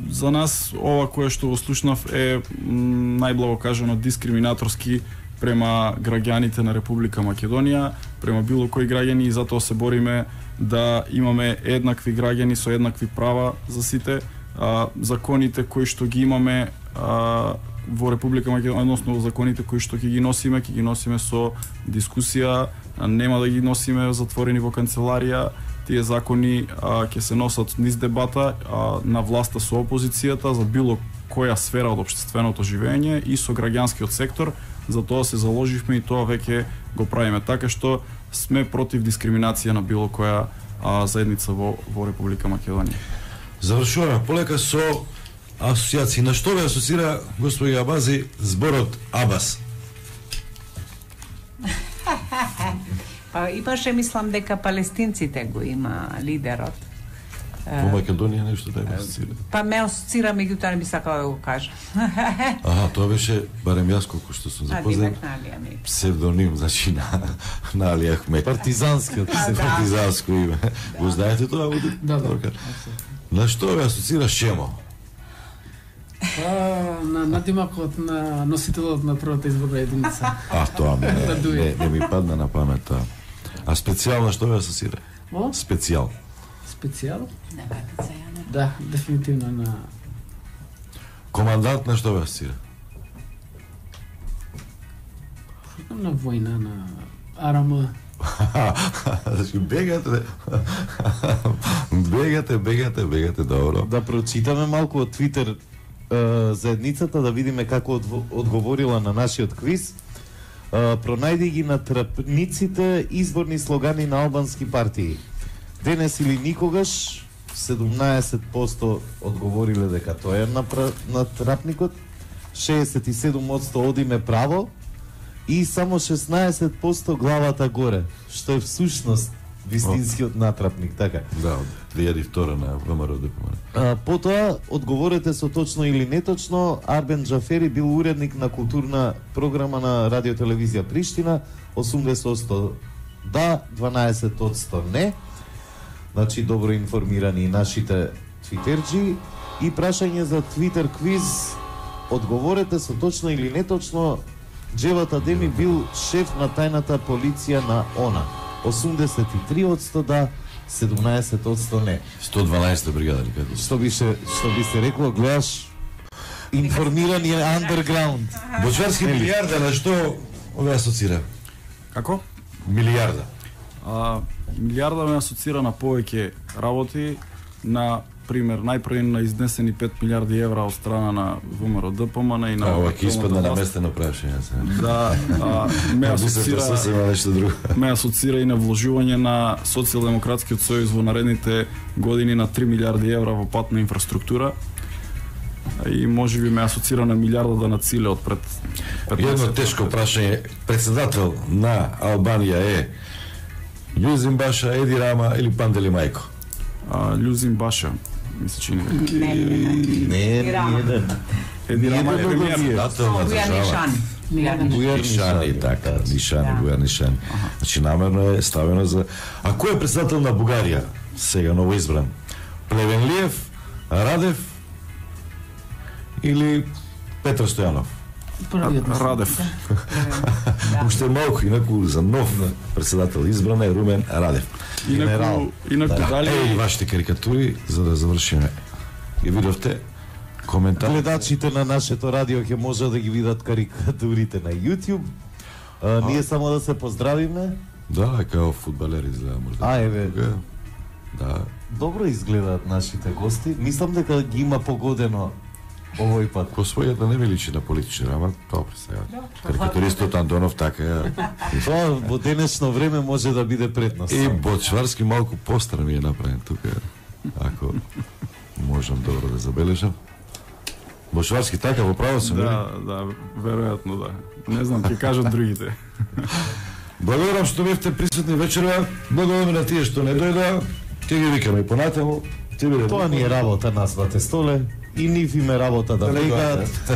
За нас ова кое што го слушнав е најблаго кажано дискриминаторски према граѓаните на Република Македонија, према било кои граѓани, и затоа се бориме да имаме еднакви граѓани со еднакви права за сите. Законите кои што ги имаме во Република Македонија, односно законите кои што ќе ги носиме со дискусија, нема да ги носиме затворени во канцеларија. Тие закони ќе се носат низ дебата на власта со опозицијата за било која сфера од општественото живење и со граѓанскиот сектор. За тоа се заложивме и тоа веќе го правиме, така што сме против дискриминација на било која заедница во Република Македонија. Завршуваме полека со асоцијации. На што ве асоцира, господи Абази, зборот Абас? И баше мислам дека палестинците го има лидерот. Во Македонија нешто да ме асоцира. Ме асоцира, меѓутоа не би сакала да го кажам. Тоа беше, барем јас колку што сум запознат, псевдоним, значи на Али Ахмет. Партизанскиот. Партизанско име. Го знаете тоа? Да. На што ве асоцира Шемо? На надимакот на носителот на првата изборна единица. Тоа не ми падна на памет тоа. А специјално што ве асоцира? Специјал. Специјал? Да, дефинитивно на... Командант на што ве асоцира? На војна, на АРМ. Значи, бегате, добро. Да прочитаме малку од Твитер заедницата, да видиме како одговорила на нашиот квиз. Пронајди ги на трапниците изборни слогани на албански партии. Денес или никогаш, 17% одговориле дека тоа е на трапникот, 67% одиме право и само 16% главата горе, што е всушност вистинскиот натрапник, така. Да, од 2002 на ВМРО ДПМН. Потоа, одговорете со точно или неточно, Арбен Джафери бил уредник на културна програма на Радиотелевизија Приштина, 80% да, 12% не. Значи, добро информирани и нашите твитерджи. И прашање за Твитер квиз, одговорете со точно или неточно, Джеват Адеми бил шеф на тајната полиција на ОНА. 83% да, 17% не. 112 бригада ли како? Што би се рекло, гледаш информирани андерграунд. Бочварски милиарда на што ове асоцира? Како? Милиарда. Милиарда ме асоцира на повеќе работи, на пример, најпрво на изнесени 5 милиарди евра од страна на ВМРО ДПМН и на... Ова ќе испадне наместено прашање. Да, ме асоцира и на вложување на Социјалдемократскиот сојуз во наредните години на 3 милиарди евра во патна инфраструктура. И може би ме асоцира на милиарда на Циле од пред 15. Едно тешко прашање. Председател на Албанија е Љузин Баша, Еди Рама или Пандели Мајко? Љузин Баша, ми се чини. Не, Еди Рама е премиер. Нишани, така, Нишани. Значи, намерно е ставено за... А кој е председател на Бугарија, сега новоизбран? Плевенлиев, Радев или Петар Стојанов? Радев. Уште малку, инаку за нов председател избран е Румен Радев. Инаку дали... Еј, вашите карикатури, за да завршиме. Ги видовте? Коментар? Гледачите на нашето радио ќе може да ги видат карикатурите на YouTube. Ние само да се поздравиме. Да, као фудбалери изгледа можда. Еве. Да. Добро изгледаат нашите гости. Мислам дека ги има погодено овој пат. По својата не ми личи на политичар, ама добро сега. Карикатуристот Андонов така е. Тоа во денешно време може да биде пред нас. И Бочварски малку постар ми е направен тука, ако можам добро да забележам. Бочварски така во право сум, Да, веројатно да. Не знам, ќе кажат другите. Благодарам што бевте присутни вечерва. Благодарам на тие што не дојдоа. Ти ги викаме понатаму. Тоа ни е работа на Свате столе и нив им е работа да влегаат.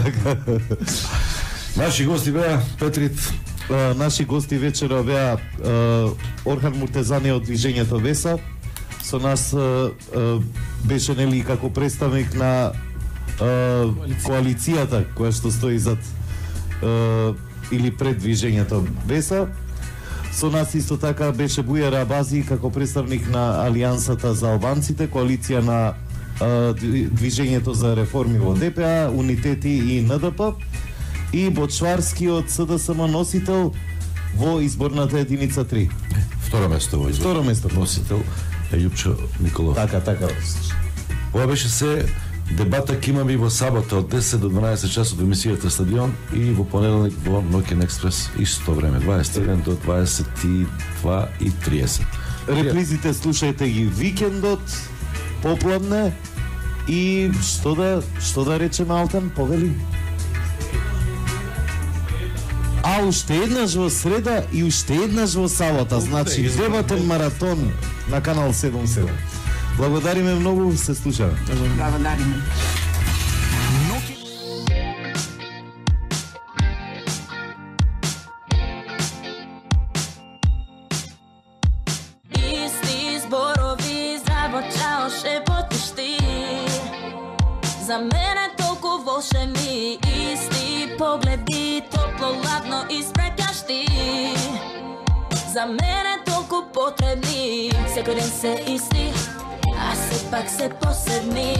Наши гости беа Петрит. Наши гости вечера беа Орхан Муртезани од движењето Веса. Со нас беше нели како представник на коалицијата која што стои зад или пред движењето Веса. Со нас исто така беше Бујар Абази како представник на Алијансата за албанците, коалиција на движењето за реформи во ДПА, Унитети и НДП, и Бочварски од СДСМ носител во изборната единица 3. Второ место во избор. Второ место носител е Јупчо Николов. Така. Ова беше се дебата ќе имаме и во сабота од 10 до 12 часот во емисијата Стадион и во понеделник во Нокен Експрес исто време 21 до 22:30. Реплизите слушајте ги викендот попладне и што да речеме Алтан, повели? А уште еднаш во среда и уште еднаш во сабота, значи дебатен маратон на канал 77. Благодариме многу, се слушаме. Благодариме. Исти зборови звучао шепотишти. За мене толку волшебни, исти погледи, топло, ладно и спреќашти. За мене толку потребни, секој ден се исти, а сепак се посебни.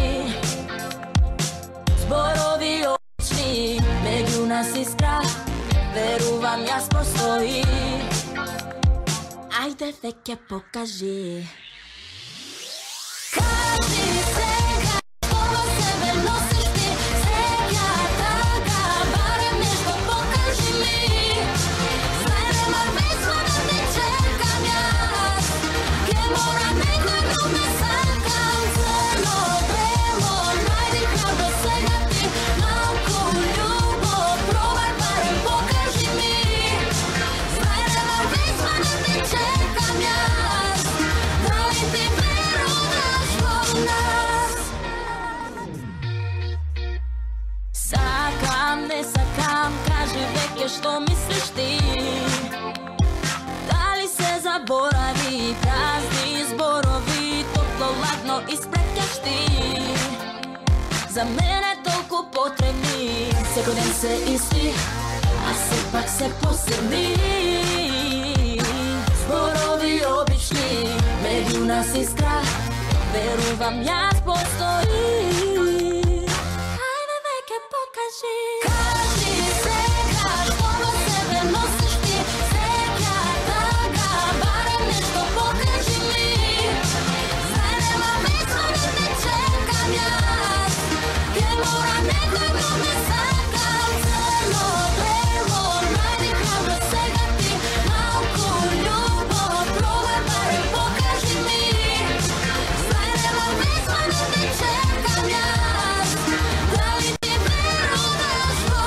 Зборови обични, меѓу нас искра, верувам јас постои. Ајде веќе покажи. Кажи сега, во себе носиш ти, сега така, барем нешто покажи ми. Знај нема весна да те чекам јас, ке мора некој да ме сакам. Црно, бело, најди храбро сега ти, малку љубов, пробај барем покажи ми. Знај нема весна да те чекам јас, дали ти веруваш во нас? Сакам, не сакам, кажи веќе што мислиш ти. Дали се заборави, празни зборови, топло, ладно и спреќашти. За мене толку потребни, секој ден се исти, а сепак се посебни. Зборови обични, меѓу нас искра, верувам јас постои. Ајде веќе покажи. Кажи сега, што во себе носиш ти, сега така, барем нешто покажи ми. Знај нема весно да те чекам јас, ке мора некој да ме сакам. Црно, бело, најди храбро сега ти, малку љубов, пробај барем покажи ми. Знај нема весно да те чекам јас, дали ти веруваш во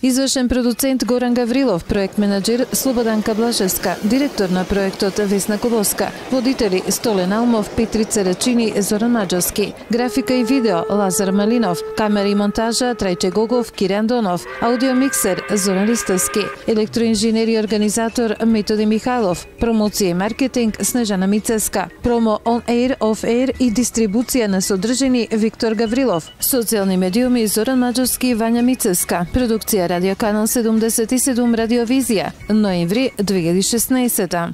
Извршен продуцент Горан Гаврилов, проект менаџер Слободанка Блажевска, директор на проектот Весна Колоска, водители Столен Алмов, Петрица Рачини, Зоран Маџарски, графика и видео Лазар Малинов, камера и монтажа Трајче Гогов, Киран Донов, аудиомиксер Зоран Ристовски, електроинженер и организатор Методи Михайлов, промоција и маркетинг Снежана Мицеска, промо on air, off air и дистрибуција на содржини Виктор Гаврилов, социјални медиуми Зоран Маџарски и Вања Мицеска, продукција Радио Канал 77 Радиовизија, ноември 2016.